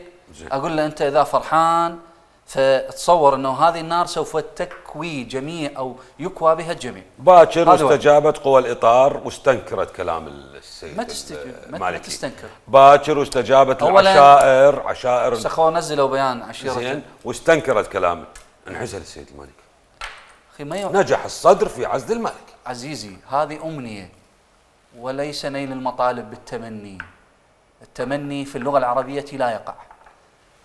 اقول له انت اذا فرحان فتصور انه هذه النار سوف تكوي جميع او يكوى بها الجميع.
باكر استجابت قوى الاطار واستنكرت كلام السيد
ما تستجيب ما تستنكر.
باكر واستجابت العشائر، عشائر
سخوا نزلوا بيان عشيره
زين واستنكرت كلامه. انعزل السيد المالكي.
اخي ما يو...
نجح الصدر في عزل المالكي.
عزيزي هذه امنيه وليس نيل المطالب بالتمني. التمني في اللغه العربيه لا يقع.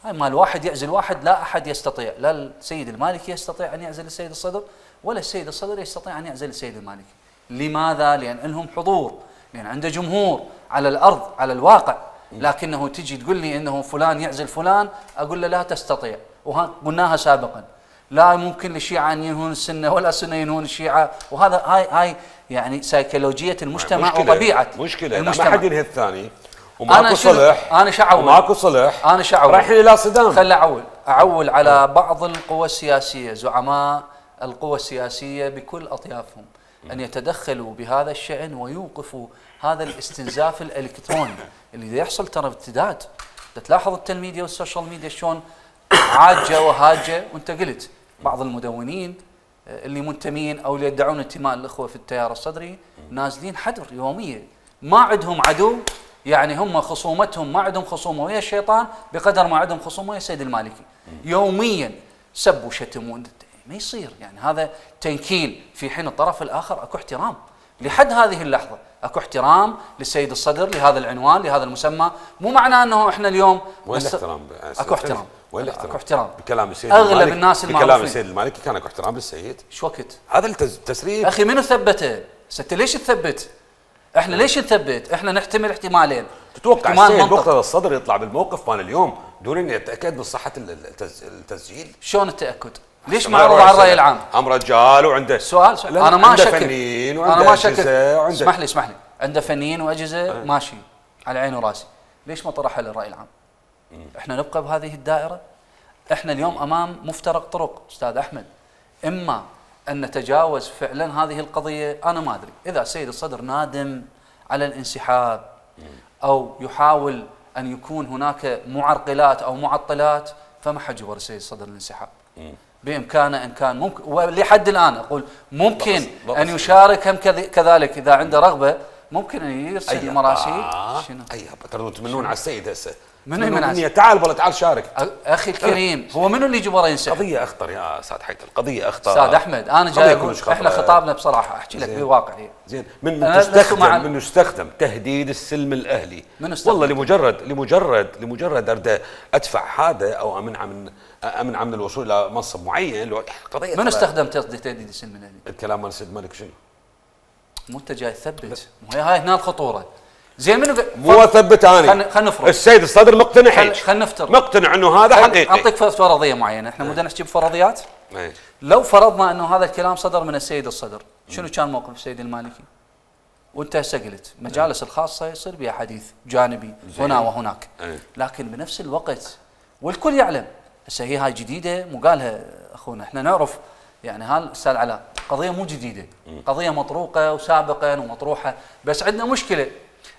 هاي ما الواحد يعزل واحد، لا احد يستطيع، لا السيد المالكي يستطيع ان يعزل السيد الصدر ولا السيد الصدر يستطيع ان يعزل السيد المالكي. لماذا؟ لان لهم حضور، لان عنده جمهور على الارض على الواقع. لكنه تجي تقول لي انه فلان يعزل فلان، اقول له لا تستطيع، وقلناها سابقا. لا ممكن للشيعة ان ينهون السنه ولا السنه ينهون الشيعة، وهذا هاي هاي يعني سيكولوجيه المجتمع
مشكلة
وطبيعه
مشكله
المجتمع.
ما حد ينهي الثاني وماكو صلح.
انا شعول
وماكو صلح،
انا شعول
رايحين الى صدام.
خل اعول اعول على بعض القوى السياسيه، زعماء القوى السياسيه بكل اطيافهم، ان يتدخلوا بهذا الشان ويوقفوا هذا الاستنزاف الالكتروني اللي يحصل ترى ارتداد. تلاحظ التلميديا والسوشيال ميديا شلون عاجه وهاجه، وانت قلت بعض المدونين اللي منتمين او اللي يدعون انتماء الاخوه في التيار الصدري نازلين حدر يوميا، ما عندهم عدو، يعني هم خصومتهم ما عندهم خصومه ويا الشيطان بقدر ما عندهم خصومه ويا السيد المالكي. يوميا سب وشتم، ما يصير، يعني هذا تنكيل، في حين الطرف الاخر اكو احترام لحد هذه اللحظه، اكو احترام للسيد الصدر لهذا العنوان لهذا المسمى. مو معناه انه احنا اليوم
وين الاحترام؟
اكو احترام،
وين الاحترام؟
اكو احترام
بكلام السيد
اغلب
المالكي.
الناس المعروفين
بكلام السيد المالكي كان اكو احترام للسيد.
ايش وقت؟
هذا التسريب
اخي منو ثبته؟ انت ليش تثبت؟ احنا ليش نثبت؟ احنا نحتمل احتمالين.
تتوقع السيد مقتدى الصدر يطلع بالموقف مال اليوم دون ان يتاكد من صحه التسجيل؟
شلون التاكد؟ ليش معروض على الراي العام؟
ام رجال وعنده
سؤال, سؤال. انا ما اشكك،
فنيين
انا ما اشكك. اسمح لي اسمح لي عنده فنيين واجهزه أه. ماشي على عيني وراسي، ليش ما طرحها للراي العام؟ م. احنا نبقى بهذه الدائره؟ احنا اليوم امام مفترق طرق استاذ احمد، اما ان نتجاوز فعلا هذه القضيه، انا ما ادري اذا السيد الصدر نادم على الانسحاب او يحاول ان يكون هناك معرقلات او معطلات، فما حجبر السيد الصدر الانسحاب. بامكانه ان كان ممكن، ولحد الان اقول ممكن بقص بقص ان يشارك هم كذلك اذا عنده رغبه، ممكن ان يرسل مراسيل.
شنو؟ اي ترى تمنون على السيد هسه
من المناسب؟
تعال والله تعال شارك.
اخي الكريم هو منو اللي جبره ينسحب؟
قضيه اخطر يا استاذ حيدر، قضيه اخطر
استاذ احمد. انا جاي اقول احنا خطابنا بصراحه احكي لك بواقعيه.
زين من تستخدم من يستخدم تهديد السلم الاهلي والله لمجرد لمجرد لمجرد ارد ادفع هذا او امنع من امنع من الوصول الى منصب معين.
قضيه من استخدم تهديد السلم الاهلي؟
الكلام مال السيد المالك شنو؟
مو انت جاي تثبت، مو هي هاي هنا الخطوره. زين منو
مو اثبت انا؟
خلينا نفرض
السيد الصدر مقتنع هيك،
خلينا نفترض
مقتنع انه هذا حقيقي.
اعطيك فرضيه معينه، احنا مو نحكي بفرضيات.
ايه.
لو فرضنا انه هذا الكلام صدر من السيد الصدر، شنو كان موقف السيد المالكي؟ وانت هسه قلت مجالس الخاصه يصير بها حديث جانبي هنا وهناك،
ايه.
لكن بنفس الوقت والكل يعلم هسه هي هاي جديده مو قالها اخونا، احنا نعرف يعني هال استاذ علاء قضيه مو جديده، قضيه مطروقه وسابقا ومطروحه، بس عندنا مشكله.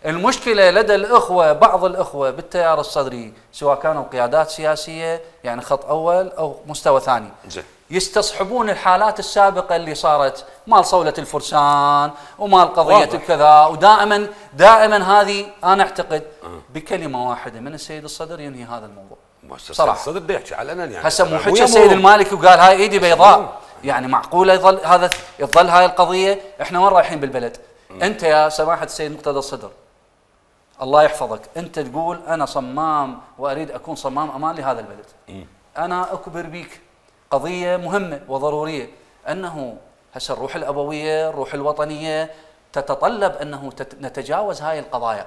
المشكله لدى الاخوه، بعض الاخوه بالتيار الصدري سواء كانوا قيادات سياسيه يعني خط اول او مستوى ثاني، يستصحبون الحالات السابقه اللي صارت مال صوله الفرسان ومال قضيه الكذا، ودائما دائما هذه انا اعتقد بكلمه واحده من السيد الصدر ينهي هذا الموضوع.
صراحه الصدر بده يحكي علنا يعني
هسه مو حكى السيد المالكي وقال هاي ايدي بيضاء، يعني معقوله يظل هذا يظل هاي القضيه؟ احنا وين رايحين بالبلد؟ م. انت يا سماحه السيد مقتدى الصدر الله يحفظك، انت تقول انا صمام واريد اكون صمام امان لهذا البلد. م. انا اكبر بيك قضيه مهمه وضروريه، انه هسه الروح الابويه، الروح الوطنيه تتطلب انه نتجاوز هاي القضايا،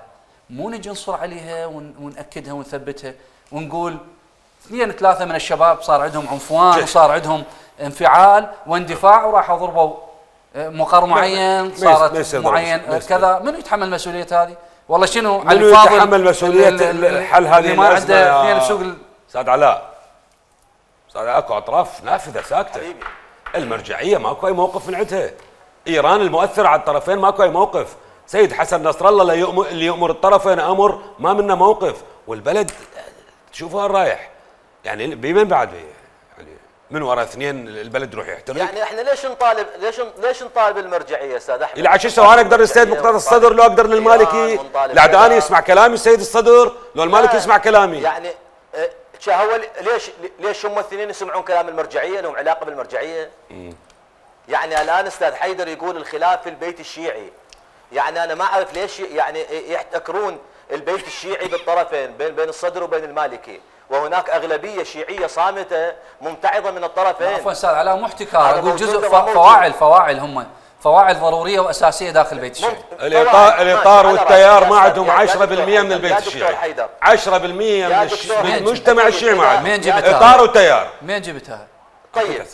مو نجي نصر عليها ونأكدها ونثبتها ونقول اثنين ثلاثه من الشباب صار عندهم عنفوان وصار عندهم انفعال واندفاع وراحوا ضربوا مقر معين، صارت معين كذا، من يتحمل مسؤوليه هذه؟ والله شنو
علي فاضل يتحمل مسؤوليه الحل هذه
ما عنده اثنين بسوق
استاذ علاء؟ استاذ اكو اطراف نافذه ساكته، المرجعيه ماكو اي موقف من عندها، ايران المؤثره على الطرفين ماكو اي موقف، سيد حسن نصر الله اللي يؤمر, اللي يؤمر الطرفين امر ما منه موقف، والبلد تشوفوا وين رايح يعني بمن بعد يعني من وراء اثنين البلد يروح يحترق.
يعني احنا ليش نطالب ليش ليش نطالب المرجعيه استاذ احمد؟
الى عشان انا اقدر السيد مقتدى الصدر لو اقدر للمالكي العداني يسمع كلامي السيد الصدر لو المالكي يسمع كلامي.
يعني هو ليش ليش هم الاثنين يسمعون كلام المرجعيه؟ لهم علاقه بالمرجعيه؟ م. يعني الان استاذ حيدر يقول الخلاف في البيت الشيعي، يعني انا ما اعرف ليش يعني يحتكرون البيت الشيعي بالطرفين بين بين الصدر وبين المالكي، وهناك اغلبيه شيعيه صامته ممتعضه من الطرفين.
عفوا استاذ علاء مو احتكار، اقول جزء فواعل فواعل هم فواعل ضروريه واساسيه داخل البيت الشيعي.
الاطار الاطار والتيار ما عندهم عشرة بالمئة من البيت الشيعي، عشرة بالمئة من المجتمع الشيعي ما عندهم.
مين جبتها؟
اطار وتيار.
مين جبتها؟
طيب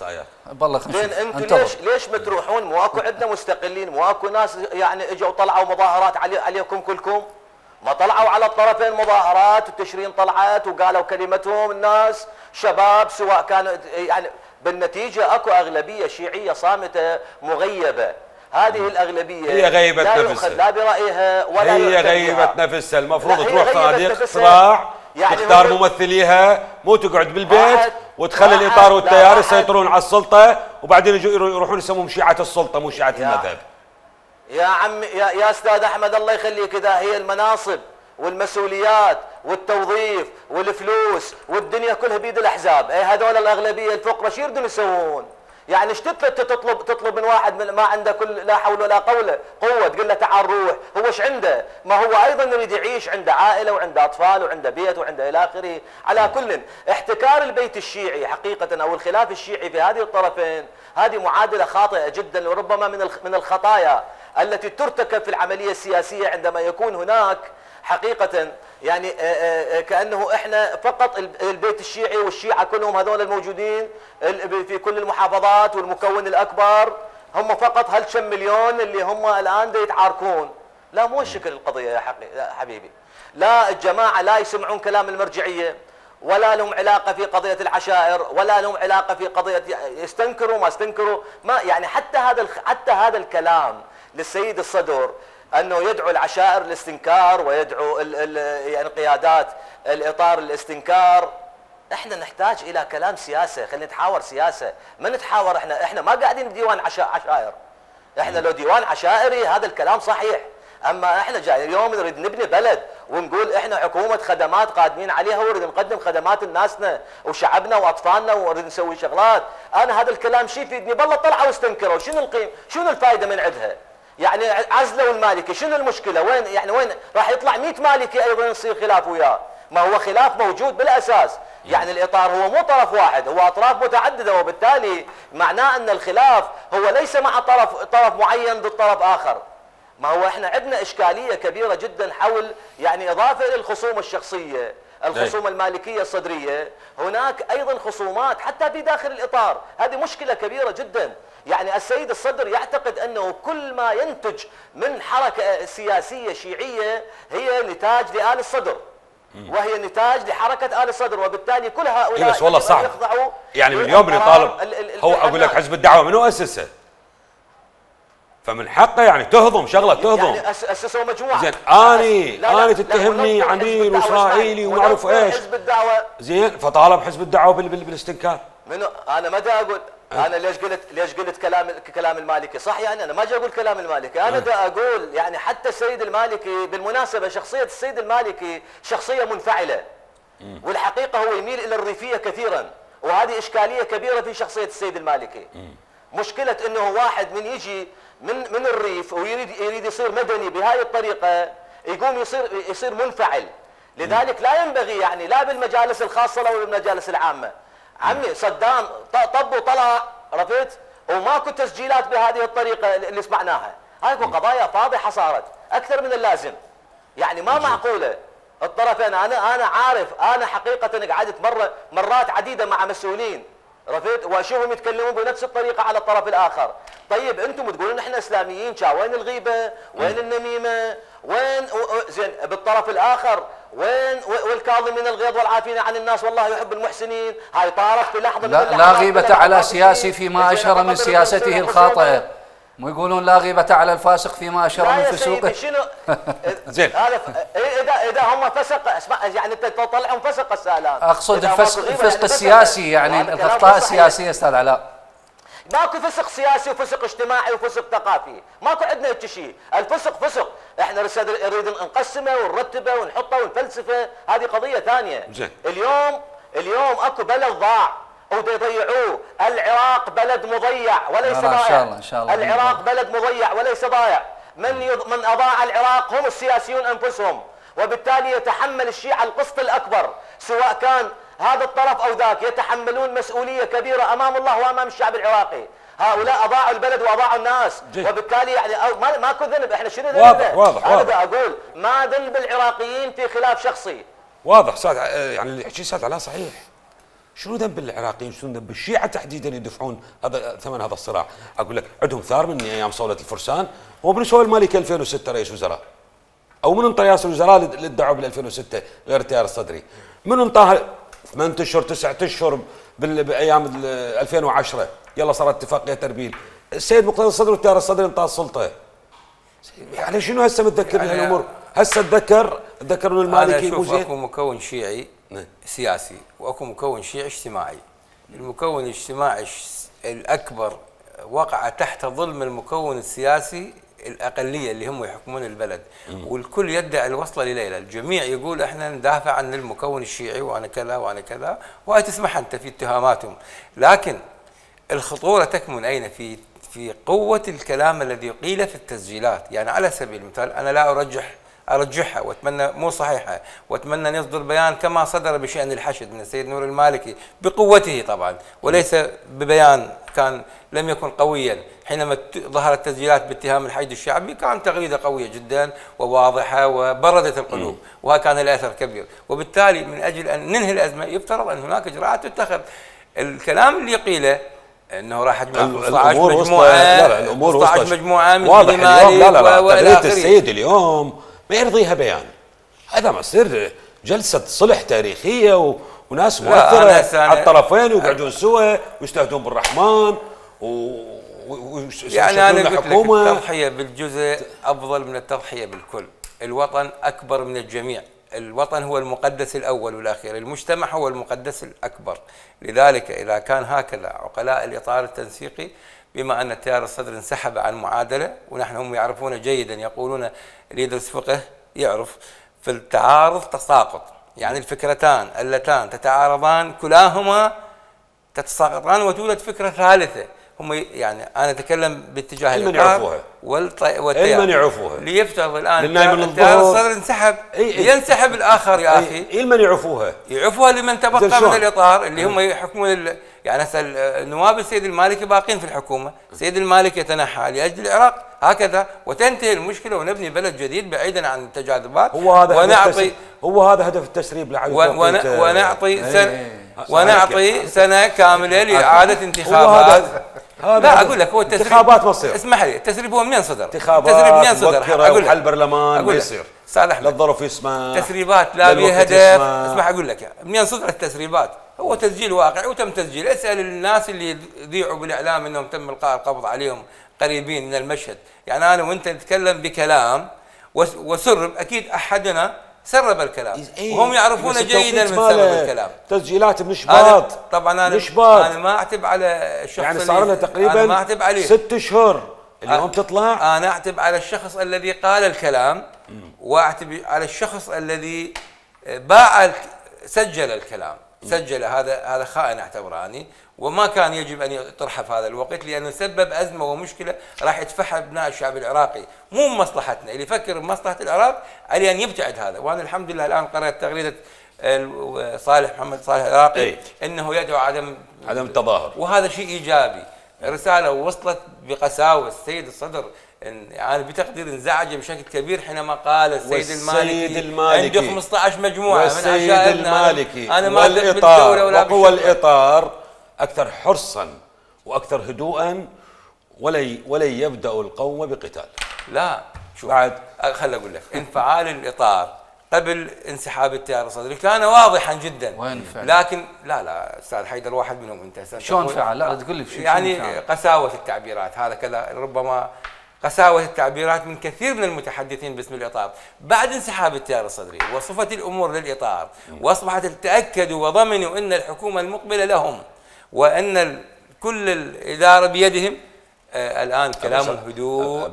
بالله خلينا
نشوف انتم ليش ليش بتروحون؟ مو اكو عندنا مستقلين، مو اكو ناس يعني اجوا طلعوا مظاهرات علي عليكم كلكم؟ ما طلعوا على الطرفين مظاهرات وتشرين طلعت وقالوا كلمتهم الناس شباب، سواء كانوا يعني بالنتيجه اكو اغلبيه شيعيه صامته مغيبه، هذه الاغلبيه
هي غيبه
لا
نفسها،
لا برايها ولا
هي غيبه نفسها، المفروض تروح صناديق اقتراع يعني تختار ممثليها، مو تقعد بالبيت وتخلي الاطار والتيار يسيطرون على السلطه وبعدين يجوا يروحون يسمون شيعه السلطه مو شيعه المذهب.
يا عم يا, يا استاذ احمد الله يخليك، اذا هي المناصب والمسؤوليات والتوظيف والفلوس والدنيا كلها بيد الاحزاب، اي هذول الاغلبيه الفقراء شو يردون يسوون؟ يعني ايش تطلب تطلب من واحد من ما عنده كل لا حول ولا قوه قوه تقول له تعال روح، هو ايش عنده؟ ما هو ايضا يريد يعيش، عنده عائله وعنده اطفال وعنده بيت وعنده الى اخره، على كل احتكار البيت الشيعي حقيقه او الخلاف الشيعي في هذه الطرفين هذه معادله خاطئه جدا، وربما من من الخطايا التي ترتكب في العمليه السياسيه عندما يكون هناك حقيقه يعني كانه احنا فقط البيت الشيعي والشيعه كلهم هذول الموجودين في كل المحافظات والمكون الاكبر هم فقط هالكم مليون اللي هم الان دا يتعاركون. لا مو الشكل القضيه يا حبيبي، لا الجماعه لا يسمعون كلام المرجعيه ولا لهم علاقه في قضيه العشائر ولا لهم علاقه في قضيه يستنكروا ما استنكروا ما يعني حتى هذا حتى هذا الكلام للسيد الصدر انه يدعو العشائر للاستنكار ويدعو ال ال يعني قيادات الاطار للاستنكار. احنا نحتاج الى كلام سياسه، خلينا نتحاور سياسه، ما نتحاور احنا احنا ما قاعدين بديوان عشائر، احنا لو ديوان عشائري هذا الكلام صحيح، اما احنا جاي اليوم نريد نبني بلد ونقول احنا حكومه خدمات قادمين عليها ونريد نقدم خدمات لناسنا وشعبنا واطفالنا ونريد نسوي شغلات، انا هذا الكلام شي يفيدني؟ بالله طلعوا واستنكروا، شنو القيم؟ شنو الفائده من عندها؟ يعني عزلوا المالكي، شنو المشكله؟ وين يعني وين راح يطلع مئة مالكي ايضا يصير خلاف وياه؟ ما هو خلاف موجود بالاساس، يعني الاطار هو مو طرف واحد، هو اطراف متعدده، وبالتالي معناه ان الخلاف هو ليس مع طرف طرف معين ضد طرف اخر. ما هو احنا عندنا اشكاليه كبيره جدا حول يعني اضافه الى الخصوم الشخصيه، الخصوم المالكيه الصدريه، هناك ايضا خصومات حتى في داخل الاطار، هذه مشكله كبيره جدا. يعني السيد الصدر يعتقد انه كل ما ينتج من حركه سياسيه شيعيه هي نتاج لآل الصدر، وهي نتاج لحركه ال الصدر، وبالتالي كل هؤلاء
إيه بس والله صعب
يخضعوا
يعني من اليوم اللي يطالب هو اقول لك حزب الدعوه منو اسسه؟ فمن حقه يعني تهضم شغله تهضم
يعني اسسوا مجموعه
زين اني اني تتهمني عميل واسرائيلي وما اعرف ايش
حزب الدعوه
زين فطالب حزب الدعوه بال بال بالاستنكار.
منو انا ما دا اقول انا ليش قلت ليش قلت كلام كلام المالكي صح يعني انا ما جاي اقول كلام المالكي انا دا اقول يعني حتى السيد المالكي بالمناسبه شخصيه السيد المالكي شخصيه منفعله والحقيقه هو يميل الى الريفيه كثيرا وهذه اشكاليه كبيره في شخصيه السيد المالكي. مشكله انه واحد من يجي من من الريف ويريد يريد يصير مدني بهاي الطريقه يقوم يصير يصير منفعل، لذلك لا ينبغي يعني لا بالمجالس الخاصه ولا بالمجالس العامه. عمي صدام طب وطلع عرفت وماكو تسجيلات بهذه الطريقه اللي سمعناها، هاي قضايا فاضحه صارت اكثر من اللازم. يعني ما معقوله الطرفين انا انا عارف انا حقيقه قعدت مره مرات عديده مع مسؤولين عرفت واشوفهم يتكلمون بنفس الطريقه على الطرف الاخر. طيب انتم تقولون احنا اسلاميين، وين الغيبه؟ وين النميمه؟ وين زين بالطرف الاخر وين والكاظمين الغيظ والعافين عن الناس والله يحب المحسنين؟ هاي طارت في لحظه من
اللحظات. لا غيبه على سياسي فيما اشهر من سياسته الخاطئه، مو يقولون لا غيبه على الفاسق فيما اشهر من فسوقه.
شنو
زين
هذا اذا اذا هم فسق اسمع يعني انت تطلعهم فسق هسه الان
اقصد الفسق الفسق السياسي يعني الاخطاء السياسيه استاذ علاء.
ماكو فسق سياسي وفسق اجتماعي وفسق ثقافي، ماكو عندنا هيك شيء، الفسق فسق، احنا نريد نقسمه ونرتبه ونحطه ونفلسفه، هذه قضيه ثانيه.
زين.
اليوم اليوم اكو بلد ضاع ودا يضيعوه، العراق بلد مضيع وليس ضايع.
ان شاء الله ان شاء الله.
العراق بلد مضيع وليس ضايع، من يض... من اضاع العراق هم السياسيون انفسهم، وبالتالي يتحمل الشيعة القسط الاكبر، سواء كان هذا الطرف او ذاك، يتحملون مسؤوليه كبيره امام الله وامام الشعب العراقي. هؤلاء اضاعوا البلد واضاعوا الناس، جي. وبالتالي يعني ما ماكو ذنب، احنا شنو ذنبنا؟
واضح واضح
انا
واضح.
اقول ما ذنب العراقيين في خلاف شخصي.
واضح استاذ يعني اللي يحكي استاذ علاء صحيح. شنو ذنب العراقيين؟ شنو ذنب الشيعة تحديدا يدفعون هذا ثمن هذا الصراع؟ اقول لك عندهم ثار من ايام صولة الفرسان، ومن سوى المالكي ألفين وستة رئيس وزراء، او من انطى رئاسة الوزراء اللي ادعوا بال ألفين وستة غير التيار الصدري، من انطاها ثمانية اشهر تسعة اشهر بايام ألفين وعشرة يلا صارت اتفاقيه تربيل، السيد مقتدى الصدر والتيار الصدري انطى السلطه. يعني شنو هسه متذكر يعني بهالامور؟ هسه اتذكر اتذكر انه المالكي
مو زين. انا اشوف اكو مكون شيعي سياسي واكو مكون شيعي اجتماعي. المكون الاجتماعي الاكبر وقع تحت ظلم المكون السياسي الاقليه اللي هم يحكمون البلد، والكل يدعي الوصله لليله، الجميع يقول احنا ندافع عن المكون الشيعي وانا كذا وانا كذا، وهي تسمح انت في اتهاماتهم، لكن الخطوره تكمن اين؟ في في قوه الكلام الذي قيل في التسجيلات، يعني على سبيل المثال انا لا ارجح ارجحها واتمنى مو صحيحه، واتمنى ان يصدر بيان كما صدر بشان الحشد من السيد نور المالكي بقوته طبعا، وليس ببيان كان لم يكن قويا. حينما ظهرت تسجيلات باتهام الحشد الشعبي كان تغريده قويه جدا وواضحه وبردت القلوب، وكان لها اثر كبير، وبالتالي من اجل ان ننهي الازمه يفترض ان هناك اجراءات تتخذ. الكلام اللي قيله انه راح اجمع خمسة عشر مجموعه، لا لا الامور خمسة عشر مجموعه من
واضح اليوم. لا لا لا
والى
اخره. السيد اليوم ما يرضيها بيان، هذا ما يصير جلسه صلح تاريخيه و... وناس مؤثره على الطرفين ويقعدون سوا ويستهدون بالرحمن و... و...
يعني انا قلت لك التضحيه بالجزء افضل من التضحيه بالكل. الوطن اكبر من الجميع، الوطن هو المقدس الاول والاخير، المجتمع هو المقدس الاكبر. لذلك اذا كان هكذا عقلاء الاطار التنسيقي، بما ان التيار الصدر انسحب عن معادله، ونحن هم يعرفون جيدا، يقولون اللي يدرس فقه يعرف في التعارض تساقط، يعني الفكرتان اللتان تتعارضان كلاهما تتساقطان وتولد فكره ثالثه. هم يعني انا اتكلم باتجاه
المن يعرفوها
والتيار
المن يعرفوها
ليفترض الان التيار الصدر انسحب، ينسحب الاخر يا اخي.
المن يعرفوها
يعرفوها لمن تبقى من الاطار اللي هم يحكمون. يعني هسه النواب السيد المالكي باقين في الحكومه، السيد المالكي يتنحى لاجل العراق هكذا وتنتهي المشكله ونبني بلد جديد بعيدا عن التجاذبات.
هو هذا
ونعطي
هو هذا هدف التسريب
لعدم ونعطي سنه ونعطي سنه كامله لاعاده انتخابات لا اقول لك هو التسريب
انتخابات ما تصير.
اسمح لي، التسريب هو منين صدر؟
انتخابات
التسريب منين صدر؟
اقول لك حل برلمان ما يصير.
استاذ احمد
لا الظرف يسمح،
تسريبات لا بها هدف. اسمح اقول لك منين صدرت التسريبات؟ هو تسجيل واقعي وتم تسجيل. اسال الناس اللي يذيعوا بالاعلام انهم تم القاء القبض عليهم قريبين من المشهد. يعني انا وانت نتكلم بكلام وسرب، اكيد احدنا سرب الكلام إيه؟ وهم يعرفون جيدا من سرب الكلام.
تسجيلات من شباط.
طبعا انا
مشباط.
انا ما اعتب على الشخص
يعني صار لنا تقريبا
ما اعتب عليه
ست اشهر اليوم أ... تطلع.
انا اعتب على الشخص الذي قال الكلام، واعتب على الشخص الذي باع سجل الكلام. سجل هذا هذا خائن اعتبره اني، وما كان يجب ان يطرح في هذا الوقت لانه سبب ازمه ومشكله راح يدفعها ابناء الشعب العراقي، مو مصلحتنا. اللي يفكر بمصلحه العراق عليه ان يبتعد هذا. وانا الحمد لله الان قرات تغريده صالح محمد صالح العراقي
أي.
انه يدعو عدم
عدم التظاهر،
وهذا شيء ايجابي. رساله وصلت بقساوه. السيد الصدر يعني بتقدير انزعج بشكل كبير حينما قال السيد المالكي, المالكي عنده خمسة عشر مجموعه من عشائرنا.
انا ما ادري بالدوله ولا وقوى الاطار اكثر حرصا واكثر هدوءا، ولا ولا يبدا القوم بقتال.
لا شوف بعد خليني اقول لك انفعال الاطار قبل انسحاب التيار الصدري كان واضحا جدا.
وين
لكن لا لا استاذ حيدر واحد منهم انت
شلون فعل؟ لا تقول لي شو
يعني قساوه التعبيرات. هذا كذا ربما قساوه التعبيرات من كثير من المتحدثين باسم الاطار بعد انسحاب التيار الصدري. وصفت الامور للاطار واصبحت تاكدوا وضمنوا ان الحكومه المقبله لهم وان كل الاداره بيدهم. آه الان كلام هدوء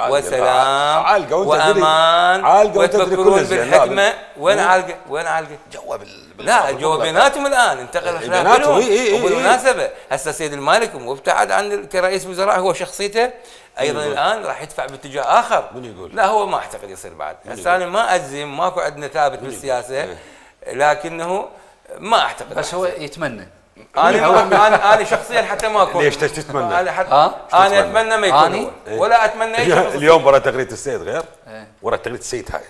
وسلام وامان وتفكرون بالحكمه. وين عالقه؟ وين عالقه؟
جوا
لا جوا بيناتهم الان انتقل خلافهم. وبالمناسبه هسه السيد المالك وابتعد عن كرئيس وزراء هو شخصيته ايضا الان راح يدفع باتجاه اخر.
من يقول؟
لا هو ما اعتقد يصير بعد. هسه انا ما اجزم، ماكو عندنا ثابت بالسياسه، لكنه ما اعتقد.
بس هو يتمنى.
انا انا انا شخصيا حتى ما اكون.
ليش تتمنى؟
انا حتى انا اتمنى ما يكون هو ولا اتمنى اي شخص.
اليوم ورا تغريده السيد غير ورا تغريده السيد هاي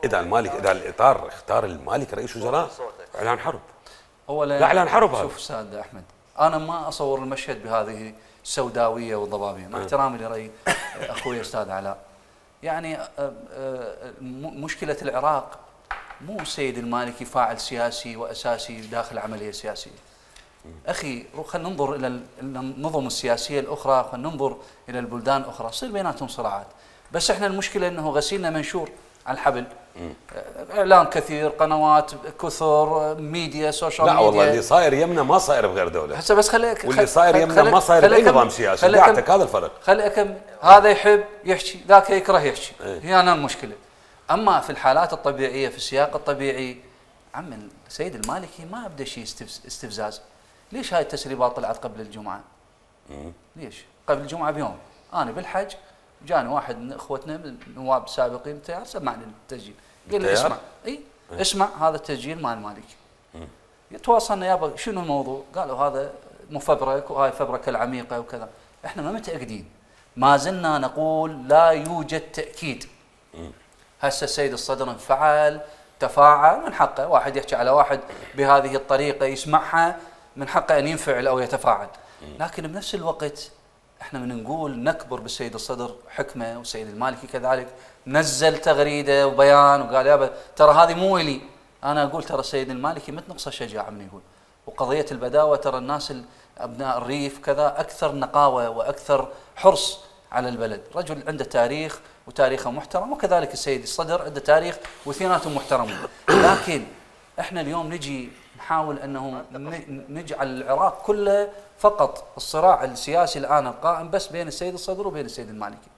اذا المالك اذا الاطار اختار المالك رئيس وزراء اعلان حرب.
اولا
لا اعلان حرب.
شوف استاذ احمد، انا ما اصور المشهد بهذه السوداويه والضبابيه مع احترامي لراي اخوي استاذ علاء. يعني مشكله العراق مو السيد المالكي فاعل سياسي واساسي داخل العمليه السياسيه. اخي خلينا ننظر الى النظم السياسيه الاخرى، خلينا ننظر الى البلدان الاخرى، يصير بيناتهم صراعات. بس احنا المشكله انه غسيلنا منشور على الحبل. اعلام كثير، قنوات كثر، ميديا، سوشيال ميديا.
لا والله اللي صاير يمنا ما صاير بغير دوله.
هسه بس خليك
واللي صاير يمنا ما صاير باي نظام سياسي. قاعدك هذا الفرق.
خلي أكمل. هذا يحب يحكي، ذاك يكره يحكي.
ايه.
هي انا المشكله. اما في الحالات الطبيعيه في السياق الطبيعي عم السيد المالكي ما ابدا شيء استفزاز. ليش هاي التسريبات طلعت قبل الجمعه؟
مم.
ليش؟ قبل الجمعه بيوم انا بالحج جاني واحد من اخوتنا من النواب السابقين التيار سمعني التسجيل، قال لي اسمع اي اه. اسمع هذا التسجيل مال المالكي. تواصلنا يابا شنو الموضوع؟ قالوا هذا مفبرك وهاي فبركه العميقه وكذا. احنا ما متاكدين، ما زلنا نقول لا يوجد تاكيد. هسه السيد الصدر انفعل تفاعل، من حقه واحد يحكي على واحد بهذه الطريقه يسمعها، من حقه ان ينفعل او يتفاعل. لكن بنفس الوقت احنا من نقول نكبر بالسيد الصدر حكمه، والسيد المالكي كذلك نزل تغريده وبيان وقال يابا ترى هذه مو الي. انا اقول ترى السيد المالكي مت نقصه شجاعه من يقول. وقضيه البداوه ترى الناس ابناء الريف كذا اكثر نقاوه واكثر حرص على البلد، رجل عنده تاريخ وتاريخه محترم، وكذلك السيد الصدر عنده تاريخ واثنيناتهم محترمون. لكن احنا اليوم نجي نحاول انه نجعل العراق كله فقط الصراع السياسي الان القائم بس بين السيد الصدر وبين السيد المالكي.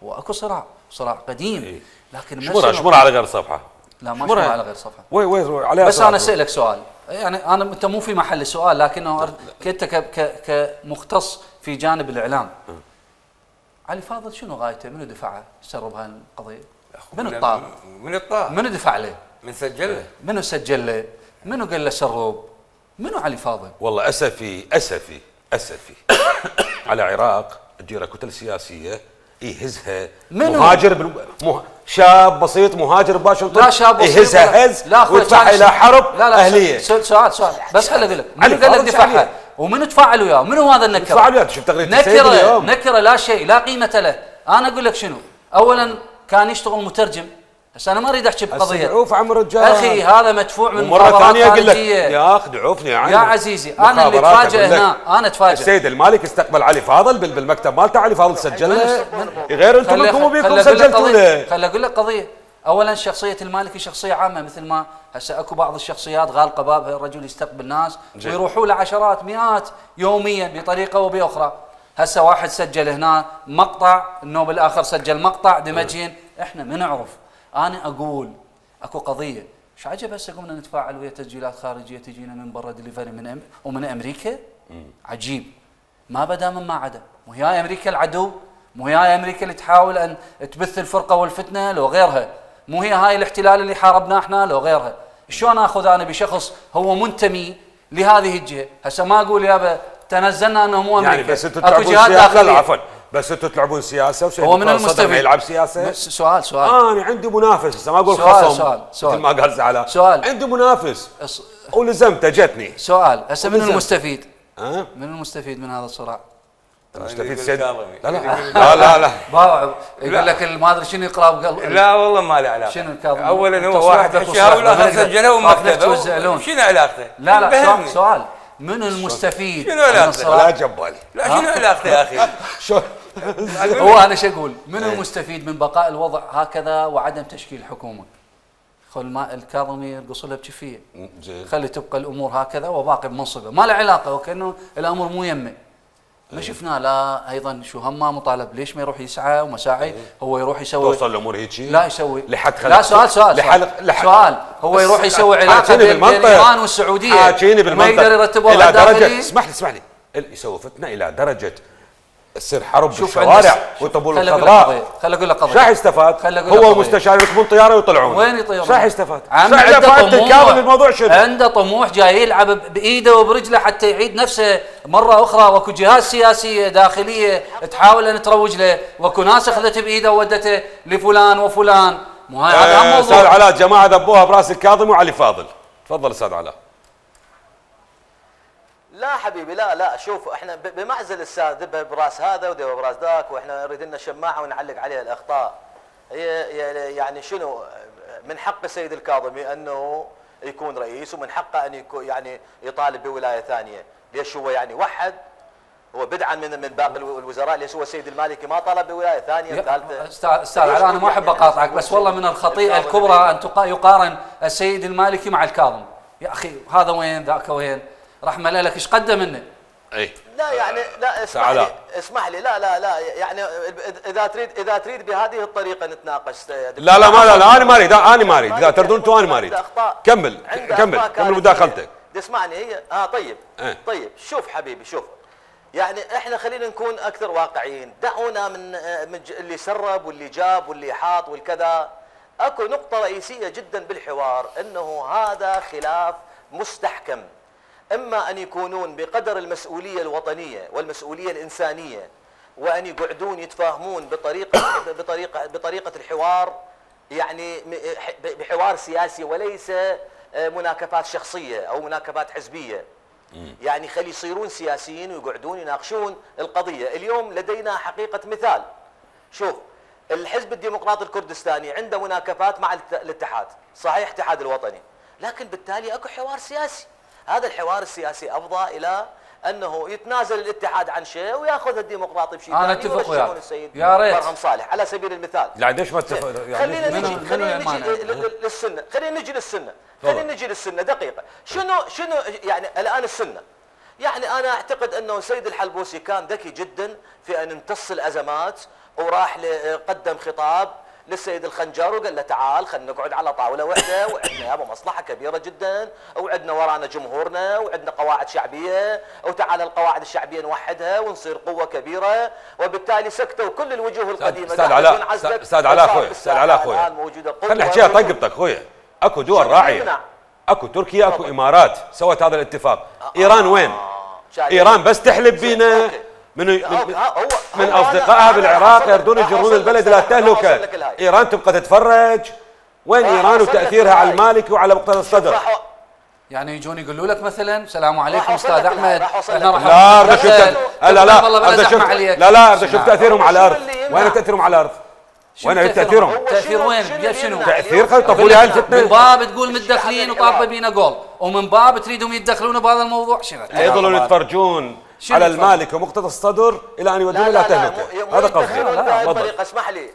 هو اكو صراع، صراع قديم، لكن
شمرها شمرها على غير صفحه.
لا ما شمرها على غير صفحه.
وي وي عليها.
بس انا اسالك سؤال، يعني انا انت مو في محل السؤال، لكنه انت كمختص في جانب الاعلام. علي فاضل شنو غايته؟ منو دفعه سرب هاي القضيه؟ من الطار؟
من الطار؟
منو دفع له؟
من سجل له؟
منو سجل له؟ منو قال له سرب؟ منو علي فاضل؟
والله اسفي اسفي اسفي على العراق تجيره كتل سياسيه يهزها مهاجر بالم... مه... شاب بسيط مهاجر باشنطن.
لا شاب بسيط
يهزها هز ويدفعها الى حرب
لا لا
اهليه.
سؤال سؤال بس خليني اقول لك منو قال لك دفعها؟ ومن تفاعل وياه؟ منو هذا النكره؟
تفاعل وياه. شوف تغريده السيد
نكره
اليوم.
نكره لا شيء لا قيمه له. انا اقول لك شنو، اولا كان يشتغل مترجم، بس انا ما اريد احكي بقضيه
عوف عم الرجال
اخي، هذا مدفوع من
مره ثانيه اقول لك يا اخي دعوفني يا عمي
يا عزيزي. انا اللي اتفاجئ هنا، انا اتفاجئ
السيد المالك استقبل علي فاضل بالمكتب مالته، علي فاضل سجل له غير انتم منكم بيكم سجلتوا له.
خل اقول لك قضيه، اولا شخصيه المالكي شخصيه عامه، مثل ما هسه اكو بعض الشخصيات غالقه بابها، الرجل يستقبل ناس ويروحوا له عشرات مئات يوميا بطريقه وباخرى. هسه واحد سجل هنا مقطع، النوب الاخر سجل مقطع دمجين، احنا ما نعرف. انا اقول اكو قضيه، ايش عجب هسه قمنا نتفاعل ويا تسجيلات خارجيه تجينا من برا دليفري من أم ومن امريكا. عجيب، ما بدا من ما عدا. مو هي امريكا العدو؟ مو هي امريكا اللي تحاول ان تبث الفرقه والفتنه لو غيرها؟ مو هي هاي الاحتلال اللي حاربناه احنا لو غيرها؟ شلون اخذ انا بشخص هو منتمي لهذه الجهه؟ هسه ما اقول يابا تنزلنا انه مو امريكا،
يعني بس انتم تلعبون سياسه. لا عفوا، بس انتم تلعبون سياسه وسيد
هو من المستفيد
يلعب سياسه.
سؤال سؤال
آه انا عندي منافس، هسه ما اقول خصم سؤال سؤال مثل ما قال زعلان.
سؤال
عندي منافس ولزمته جتني.
سؤال هسه من المستفيد؟
أه؟
من المستفيد من هذا الصراع؟
المستفيد سيد لا لا لا لا لا
يقول لك ما ادري شنو يقرا بقلب.
لا والله ما له علاقه.
شنو الكاظمي؟
اولا هو واحد حكاها والاخر سجله ومكتبه. شنو علاقته؟
لا لا سؤال، من المستفيد؟
شنو علاقته؟
لا جبالي.
لا شنو علاقته يا اخي؟
شو
هو انا شو اقول؟ من المستفيد من بقاء الوضع هكذا وعدم تشكيل حكومه؟ خل ما الكاظمي يرقص له بكفيه، خلي تبقى الامور هكذا وباقي بمنصبه، ما له علاقه، وكانه الامر مو يمه. ما شفنا لا ايضا شو همه مطالب، ليش ما يروح يسعى ومساعي؟ هو يروح يسوي
توصل الامور هيك؟
لا يسوي
لحد
لا سؤال سؤال
لحلق لحد
سؤال هو يروح يسوي علاقه بين ايران والسعوديه
حاكيني بالمنطق
ما يقدر يرتبها
الى درجه، اسمح لي اسمح لي يسوي فتنه الى درجه تصير حرب بالشوارع وطبول الخضراء.
خل اقول لك قضيه،
شو راح يستفاد؟ هو ومستشار يركبون طياره ويطلعون.
وين يطيرون؟
شو راح يستفاد؟
عنده طموح،
الموضوع شنو؟
عنده طموح، جاي يلعب بايده وبرجله حتى يعيد نفسه مره اخرى، واكو جهات سياسيه داخليه تحاول ان تروج له، واكو ناس اخذته بايده وودته لفلان وفلان. مو هذا
آه
هم موضوع.
استاذ علاء جماعه ذبوها براس الكاظمي وعلي فاضل. تفضل استاذ علاء.
لا حبيبي لا لا، شوف احنا بمعزل الساعه ذبها براس هذا وذبها براس ذاك، واحنا نريد لنا شماعه ونعلق عليها الاخطاء. هي يعني شنو من حق السيد الكاظمي انه يكون رئيس، ومن حقه ان يكون يعني يطالب بولايه ثانيه. ليش هو يعني وحد؟ هو بدعا من من باقي الوزراء، ليش هو السيد المالكي ما طلب بولايه ثانيه ثالثه؟
استاذ استاذ علاء انا ما احب اقاطعك، بس والله من الخطيئه الكبرى ان يقارن السيد المالكي مع الكاظم. يا اخي هذا وين ذاك وين؟ رحمه الله لك ايش قدم منه؟
اي
لا يعني لا اسمح لي اسمح لي لا لا لا يعني اذا تريد اذا تريد بهذه الطريقه نتناقش.
لا لا ما لا, لا انا ما اريد انا ما اريد اذا تردون انتم انا ما اريد. كمل كمل كمل مداخلتك.
تسمعني هي اه طيب اه. طيب شوف حبيبي شوف، يعني احنا خلينا نكون اكثر واقعيين، دعونا من من اللي سرب واللي جاب واللي حاط والكذا. اكو نقطه رئيسيه جدا بالحوار، انه هذا خلاف مستحكم، اما ان يكونون بقدر المسؤوليه الوطنيه والمسؤوليه الانسانيه، وان يقعدون يتفاهمون بطريقه بطريقه بطريقه الحوار، يعني بحوار سياسي وليس مناكفات شخصيه او مناكفات حزبيه. يعني خلي يصيرون سياسيين ويقعدون يناقشون القضيه. اليوم لدينا حقيقه مثال، شوف الحزب الديمقراطي الكردستاني عنده مناكفات مع الاتحاد، صحيح الاتحاد الوطني، لكن بالتالي اكو حوار سياسي. هذا الحوار السياسي افضى الى انه يتنازل الاتحاد عن شيء وياخذ الديمقراطي بشيء ثاني.
انا اتفق وياك
يا ريت مرهم صالح على سبيل المثال.
لا ليش ما اتفق؟
خلينا نجي خلينا نجي للسنه، خلينا نجي للسنه، خلينا نجي للسنه دقيقه. شنو شنو يعني الان السنه؟ يعني انا اعتقد انه سيد الحلبوسي كان ذكي جدا في ان يمتص الازمات، وراح قدم خطاب للسيد الخنجر وقال له تعال خلينا نقعد على طاوله واحده، وعندنا يابا مصلحه كبيره جدا، وعندنا ورانا جمهورنا، وعندنا قواعد شعبيه، وتعال القواعد الشعبيه نوحدها ونصير قوه كبيره. وبالتالي سكتوا كل الوجوه القديمه.
استاذ علاء استاذ علاء اخوي استاذ علاء اخوي خلينا نحكيها طقبتك اخوي. اكو دول راعيه، اكو تركيا اكو امارات سوت هذا الاتفاق. ايران وين؟ ايران بس تحلب بينا من من, من اصدقائها بالعراق يردون يجرون البلد الى التهلكه. ايران تبقى تتفرج؟ وين ايران وتاثيرها على المالكي وعلى مقتدى الصدر؟
يعني يجون يقولوا لك مثلا السلام عليكم استاذ احمد
احنا راح لا ارد اشوف لا لا ارد اشوف لا لا ارد اشوف تاثيرهم على الارض. وين تاثيرهم على الارض؟ وين تاثيرهم؟
تاثير وين؟ بجد شنو؟
تاثير خل طفوا لي هاي الفتنه.
من باب تقول متدخلين وطالبه بينا جول، ومن باب تريدهم يتدخلون بهذا الموضوع. شنو؟
يظلون يتفرجون على المالك ومقتدى الصدر الى ان يودون الى تهلكه. هذا قصدي.
طريقه اسمح لي.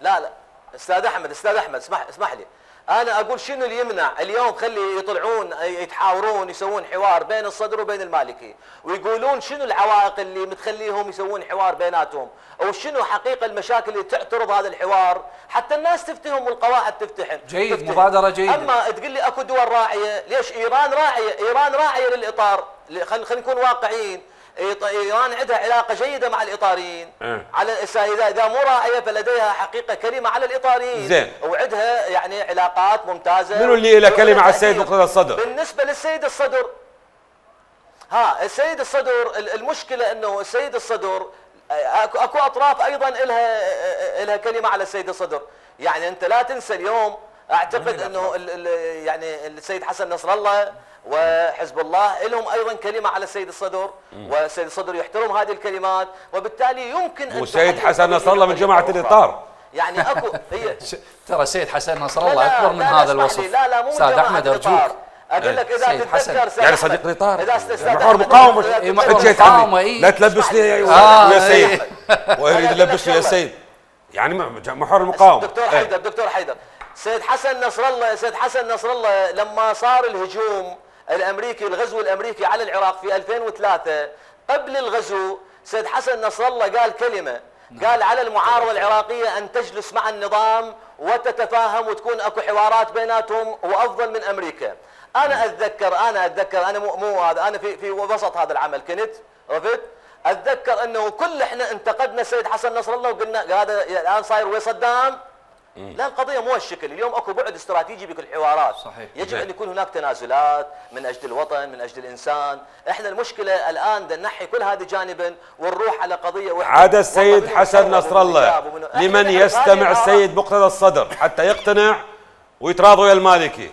لا لا استاذ احمد استاذ احمد اسمح اسمح لي. انا اقول شنو اللي يمنع اليوم خلي يطلعون يتحاورون يسوون حوار بين الصدر وبين المالكي ويقولون شنو العوائق اللي متخليهم يسوون حوار بيناتهم او شنو حقيقه المشاكل اللي تعترض هذا الحوار حتى الناس تفتهم والقواعد تفتحن.
جيد تفتحن. مبادره جيده.
اما تقول لي اكو دول راعيه، ليش ايران راعيه؟ ايران راعيه للاطار، خلينا نكون واقعيين. ايران عندها علاقه جيده مع الاطاريين أه. على اذا اذا مو راعيه فلديها حقيقه كلمه على الاطاريين
زين
وعندها يعني علاقات ممتازه.
منو اللي له كلمه على السيد مقتدى الصدر؟
بالنسبه للسيد الصدر ها السيد الصدر المشكله انه السيد الصدر اكو اكو اطراف ايضا لها لها كلمه على السيد الصدر. يعني انت لا تنسى اليوم اعتقد انه يعني السيد حسن نصر الله وحزب الله لهم ايضا كلمه على السيد الصدر والسيد الصدر يحترم هذه الكلمات وبالتالي يمكن ان
والسيد حسن نصر الله من جماعه الاطار.
يعني اكو هي
ترى السيد حسن نصر الله اكبر من هذا الوصف.
لا لا مو
استاذ احمد ارجوك
اقول لك اذا تتذكر
يعني صديق الاطار محور مقاومه
مقاومه
لا تلبسني يا سيد ويريد يلبسني يا سيد يعني محور المقاومه.
دكتور حيدر دكتور حيدر سيد حسن نصر الله سيد حسن نصر الله لما صار الهجوم الامريكي الغزو الامريكي على العراق في ألفين وثلاثة قبل الغزو سيد حسن نصر الله قال كلمه قال على المعارضه العراقيه ان تجلس مع النظام وتتفاهم وتكون اكو حوارات بيناتهم وافضل من امريكا. انا اتذكر انا اتذكر انا مو مو هذا انا في في وسط هذا العمل كنت عرفت اتذكر انه كل احنا انتقدنا السيد حسن نصر الله وقلنا هذا الان صاير ويا صدام. لا القضيه مو هالشكل، اليوم اكو بعد استراتيجي بكل الحوارات.
صحيح.
يجب ان يكون هناك تنازلات من اجل الوطن من اجل الانسان. احنا المشكله الان بدنا نحي كل هذا جانبا ونروح على قضيه وحده.
عاد السيد حسن نصر الله لمن يستمع السيد مقتدى الصدر حتى يقتنع ويتراضى ويا المالكي.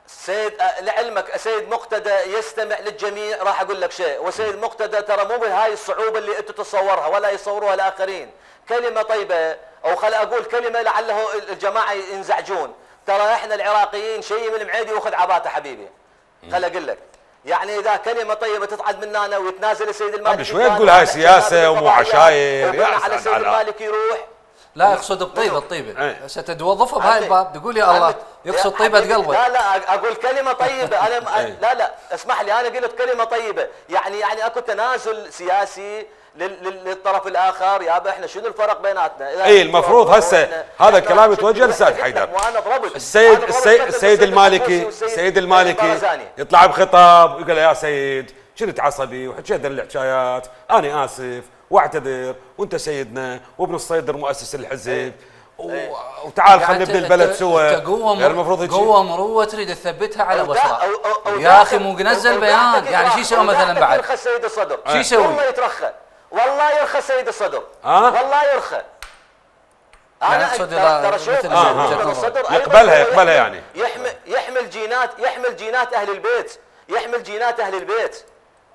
سيد لعلمك سيد مقتدى يستمع للجميع. راح اقول لك شيء وسيد مقتدى ترى مو بهاي الصعوبه اللي انت تتصورها ولا يصوروها الاخرين. كلمه طيبه او خل اقول كلمه لعله الجماعه ينزعجون. ترى احنا العراقيين شيء من المعيدي واخذ عباته حبيبي. خل اقول لك يعني اذا كلمه طيبه تصعد مننا ويتنازل السيد المالكي
قبل شوي تقول هاي سياسه ومو عشاير
يا على السيد المالكي يروح.
لا يقصد بطيبه الطيبه هسه تتوظفها بهاي الباب تقول يا الله يقصد طيبه قلبك.
لا لا اقول كلمه طيبه انا لا لا اسمح لي انا قلت كلمه طيبه يعني يعني اكو تنازل سياسي للطرف الاخر. يابا احنا شنو الفرق بيناتنا؟
اي المفروض هسه هذا الكلام يتوجه للاستاذ حيدر. السيد السيد السيد المالكي السيد المالكي يطلع بخطاب يقول يا سيد كنت عصبي وحكيت الحكايات انا اسف واعتذر وانت سيدنا وابن الصيدر مؤسس الحزب وتعال خلينا نبني البلد سوا.
يعني المفروض قوه مروه تريد تثبتها على بصره يا اخي مو نزل بيان يعني شو يسوي مثلا بعد؟
يرخى السيد الصدر
شو يسوي؟
والله يترخى والله يرخى السيد الصدر والله يرخى. انا ترى شوف الصدر
يقبلها يقبلها يعني
يحمل يحمل جينات يحمل جينات اهل البيت يحمل جينات اهل البيت.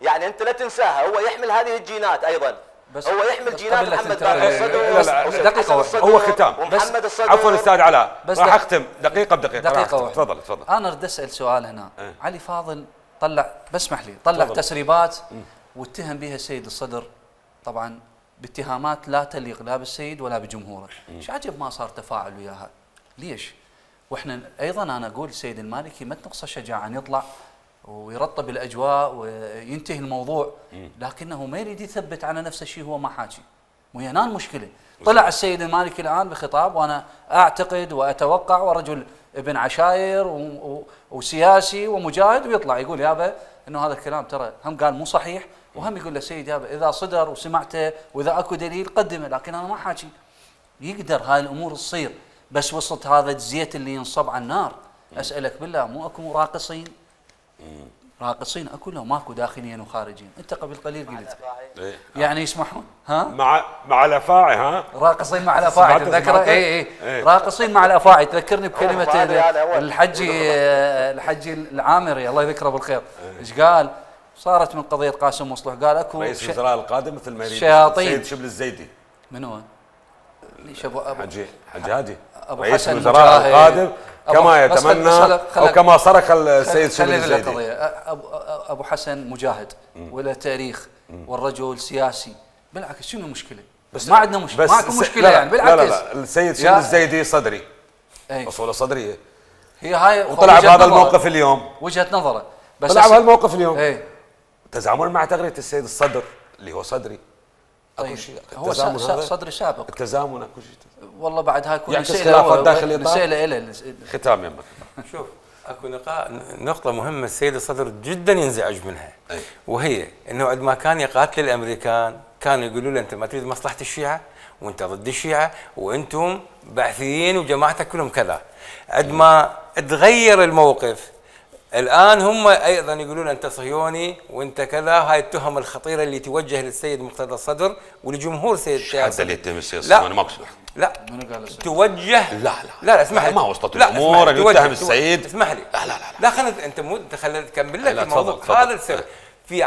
يعني انت لا تنساها هو يحمل هذه الجينات ايضا. بس هو يحمل جينات محمد باقر الصدر
دقيقه هو ختام
ومحمد الصدر.
عفوا استاذ علاء راح اختم دقيقه بدقيقه.
دقيقه
تفضل تفضل.
انا اريد اسال سؤال هنا. اه. علي فاضل طلع بسمح لي طلع فضل. تسريبات واتهم بها السيد الصدر طبعا باتهامات لا تليق لا بالسيد ولا بجمهوره. ايش عجب ما صار تفاعل وياها؟ ليش؟ واحنا ايضا انا اقول السيد المالكي ما تنقصه شجاعه ان يطلع ويرطب الاجواء وينتهي الموضوع لكنه ما يريد يثبت على نفس الشيء هو ما حاكي. وهي هنا المشكله. طلع السيد المالكي الان بخطاب وانا اعتقد واتوقع ورجل ابن عشاير وسياسي ومجاهد ويطلع يقول يابا انه هذا الكلام ترى هم قال مو صحيح وهم يقول للسيد يابا اذا صدر وسمعته واذا اكو دليل قدمه لكن انا ما حاكي. يقدر هاي الامور تصير بس وسط هذا الزيت اللي ينصب على النار. اسالك بالله مو اكو راقصين راقصين اكو لو ماكو داخليا وخارجيا؟ انت قبل قليل قلت
إيه.
يعني يسمحون ها
مع مع الافاعي ها
راقصين مع الافاعي تذكر اي اي
إيه.
راقصين مع الافاعي تذكرني بكلمه الحجي الحجي العامري الله يذكره بالخير ايش قال؟ صارت من قضيه قاسم مصلح قال اكو
رئيس الوزراء القادم مثل ما يريد
شياطين
السيد شبل الزيدي.
من هو؟ ليش ابو ابو
حجي حجي هادي
ابو
رئيس
حسن
الوزراء القادم كما يتمنى او كما صرخ السيد شبل الزيدي.
ابو ابو حسن مجاهد وله تاريخ والرجل سياسي، بالعكس شنو المشكله؟ بس ما عندنا مشكله، ماكو مشكله
لا
يعني بالعكس.
لا لا, لا. السيد شبل الزيدي صدري اصوله صدريه
هي هاي
وطلع بهذا الموقف اليوم
وجهه نظره
بس طلع بهالموقف اليوم
ايه
تزامن مع تغريه السيد الصدر اللي هو صدري.
طيب اكو شيء هو صدري سابق
التزامن اكو شيء
والله بعد هاي كل
مسألة داخل
مسألة إلى
ختام يمك.
شوف اكو نقطة مهمة السيد الصدر جدا ينزعج منها أي. وهي انه عندما كان يقاتل الامريكان كانوا يقولوا له انت ما تريد مصلحة الشيعة وانت ضد الشيعة وانتم بعثيين وجماعتك كلهم كذا. عندما تغير الموقف الان هم ايضا يقولون انت صهيوني وانت كذا. هاي التهم الخطيره اللي توجه للسيد مقتدى الصدر ولجمهور السيد
الشيعي. حتى اللي يتهم السيد الصهيوني ما بسمح.
لا توجه
لا لا
لا اسمح لي
ما وصلت الامور ان يتهم السيد.
اسمح لي
لا لا لا
لا خلينا انت مو انت خلينا نكمل لك الموضوع. هذا السر في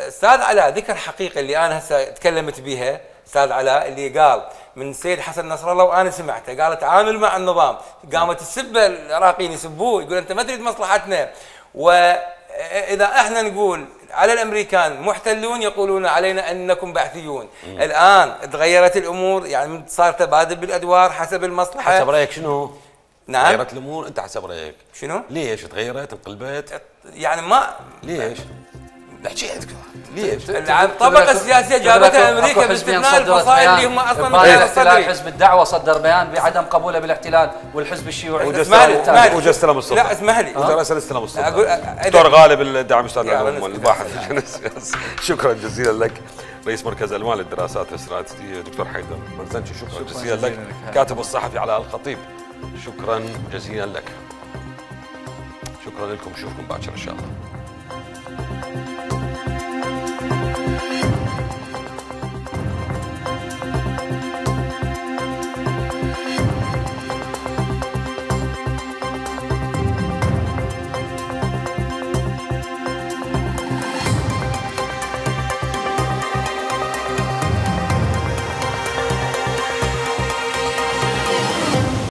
استاذ علاء ذكر حقيقه اللي انا هسه تكلمت بها استاذ علاء اللي قال من السيد حسن نصر الله وانا سمعته قال تعامل مع النظام. قامت السبه العراقيين يسبوه يقول انت ما تريد مصلحتنا. واذا احنا نقول على الامريكان محتلون يقولون علينا انكم بعثيون. مم. الان تغيرت الامور يعني صار تبادل بالادوار حسب المصلحه.
حسب رايك شنو؟
نعم
تغيرت الامور انت حسب رايك
شنو؟
ليش تغيرت انقلبت؟
يعني ما
ليش؟ احكي عندك ليش؟
الطبقه السياسيه جابتها امريكا باستثناء الفصائل اللي هم اصلا
ما حزب الدعوه صدر بيان بعدم قبوله بالاحتلال والحزب الشيوعي.
اسمح لي
وجا استلم السلطه.
لا اسمح لي
وراسل استلم السلطه. دكتور غالب الداعم استاذ العلوم والباحث السياسي. شكرا جزيلا لك رئيس مركز المال للدراسات الاستراتيجيه دكتور حيدر مرزنشي. شكرا جزيلا لك كاتب الصحفي علاء الخطيب. شكرا جزيلا لك. شكرا لكم نشوفكم باكر ان شاء الله.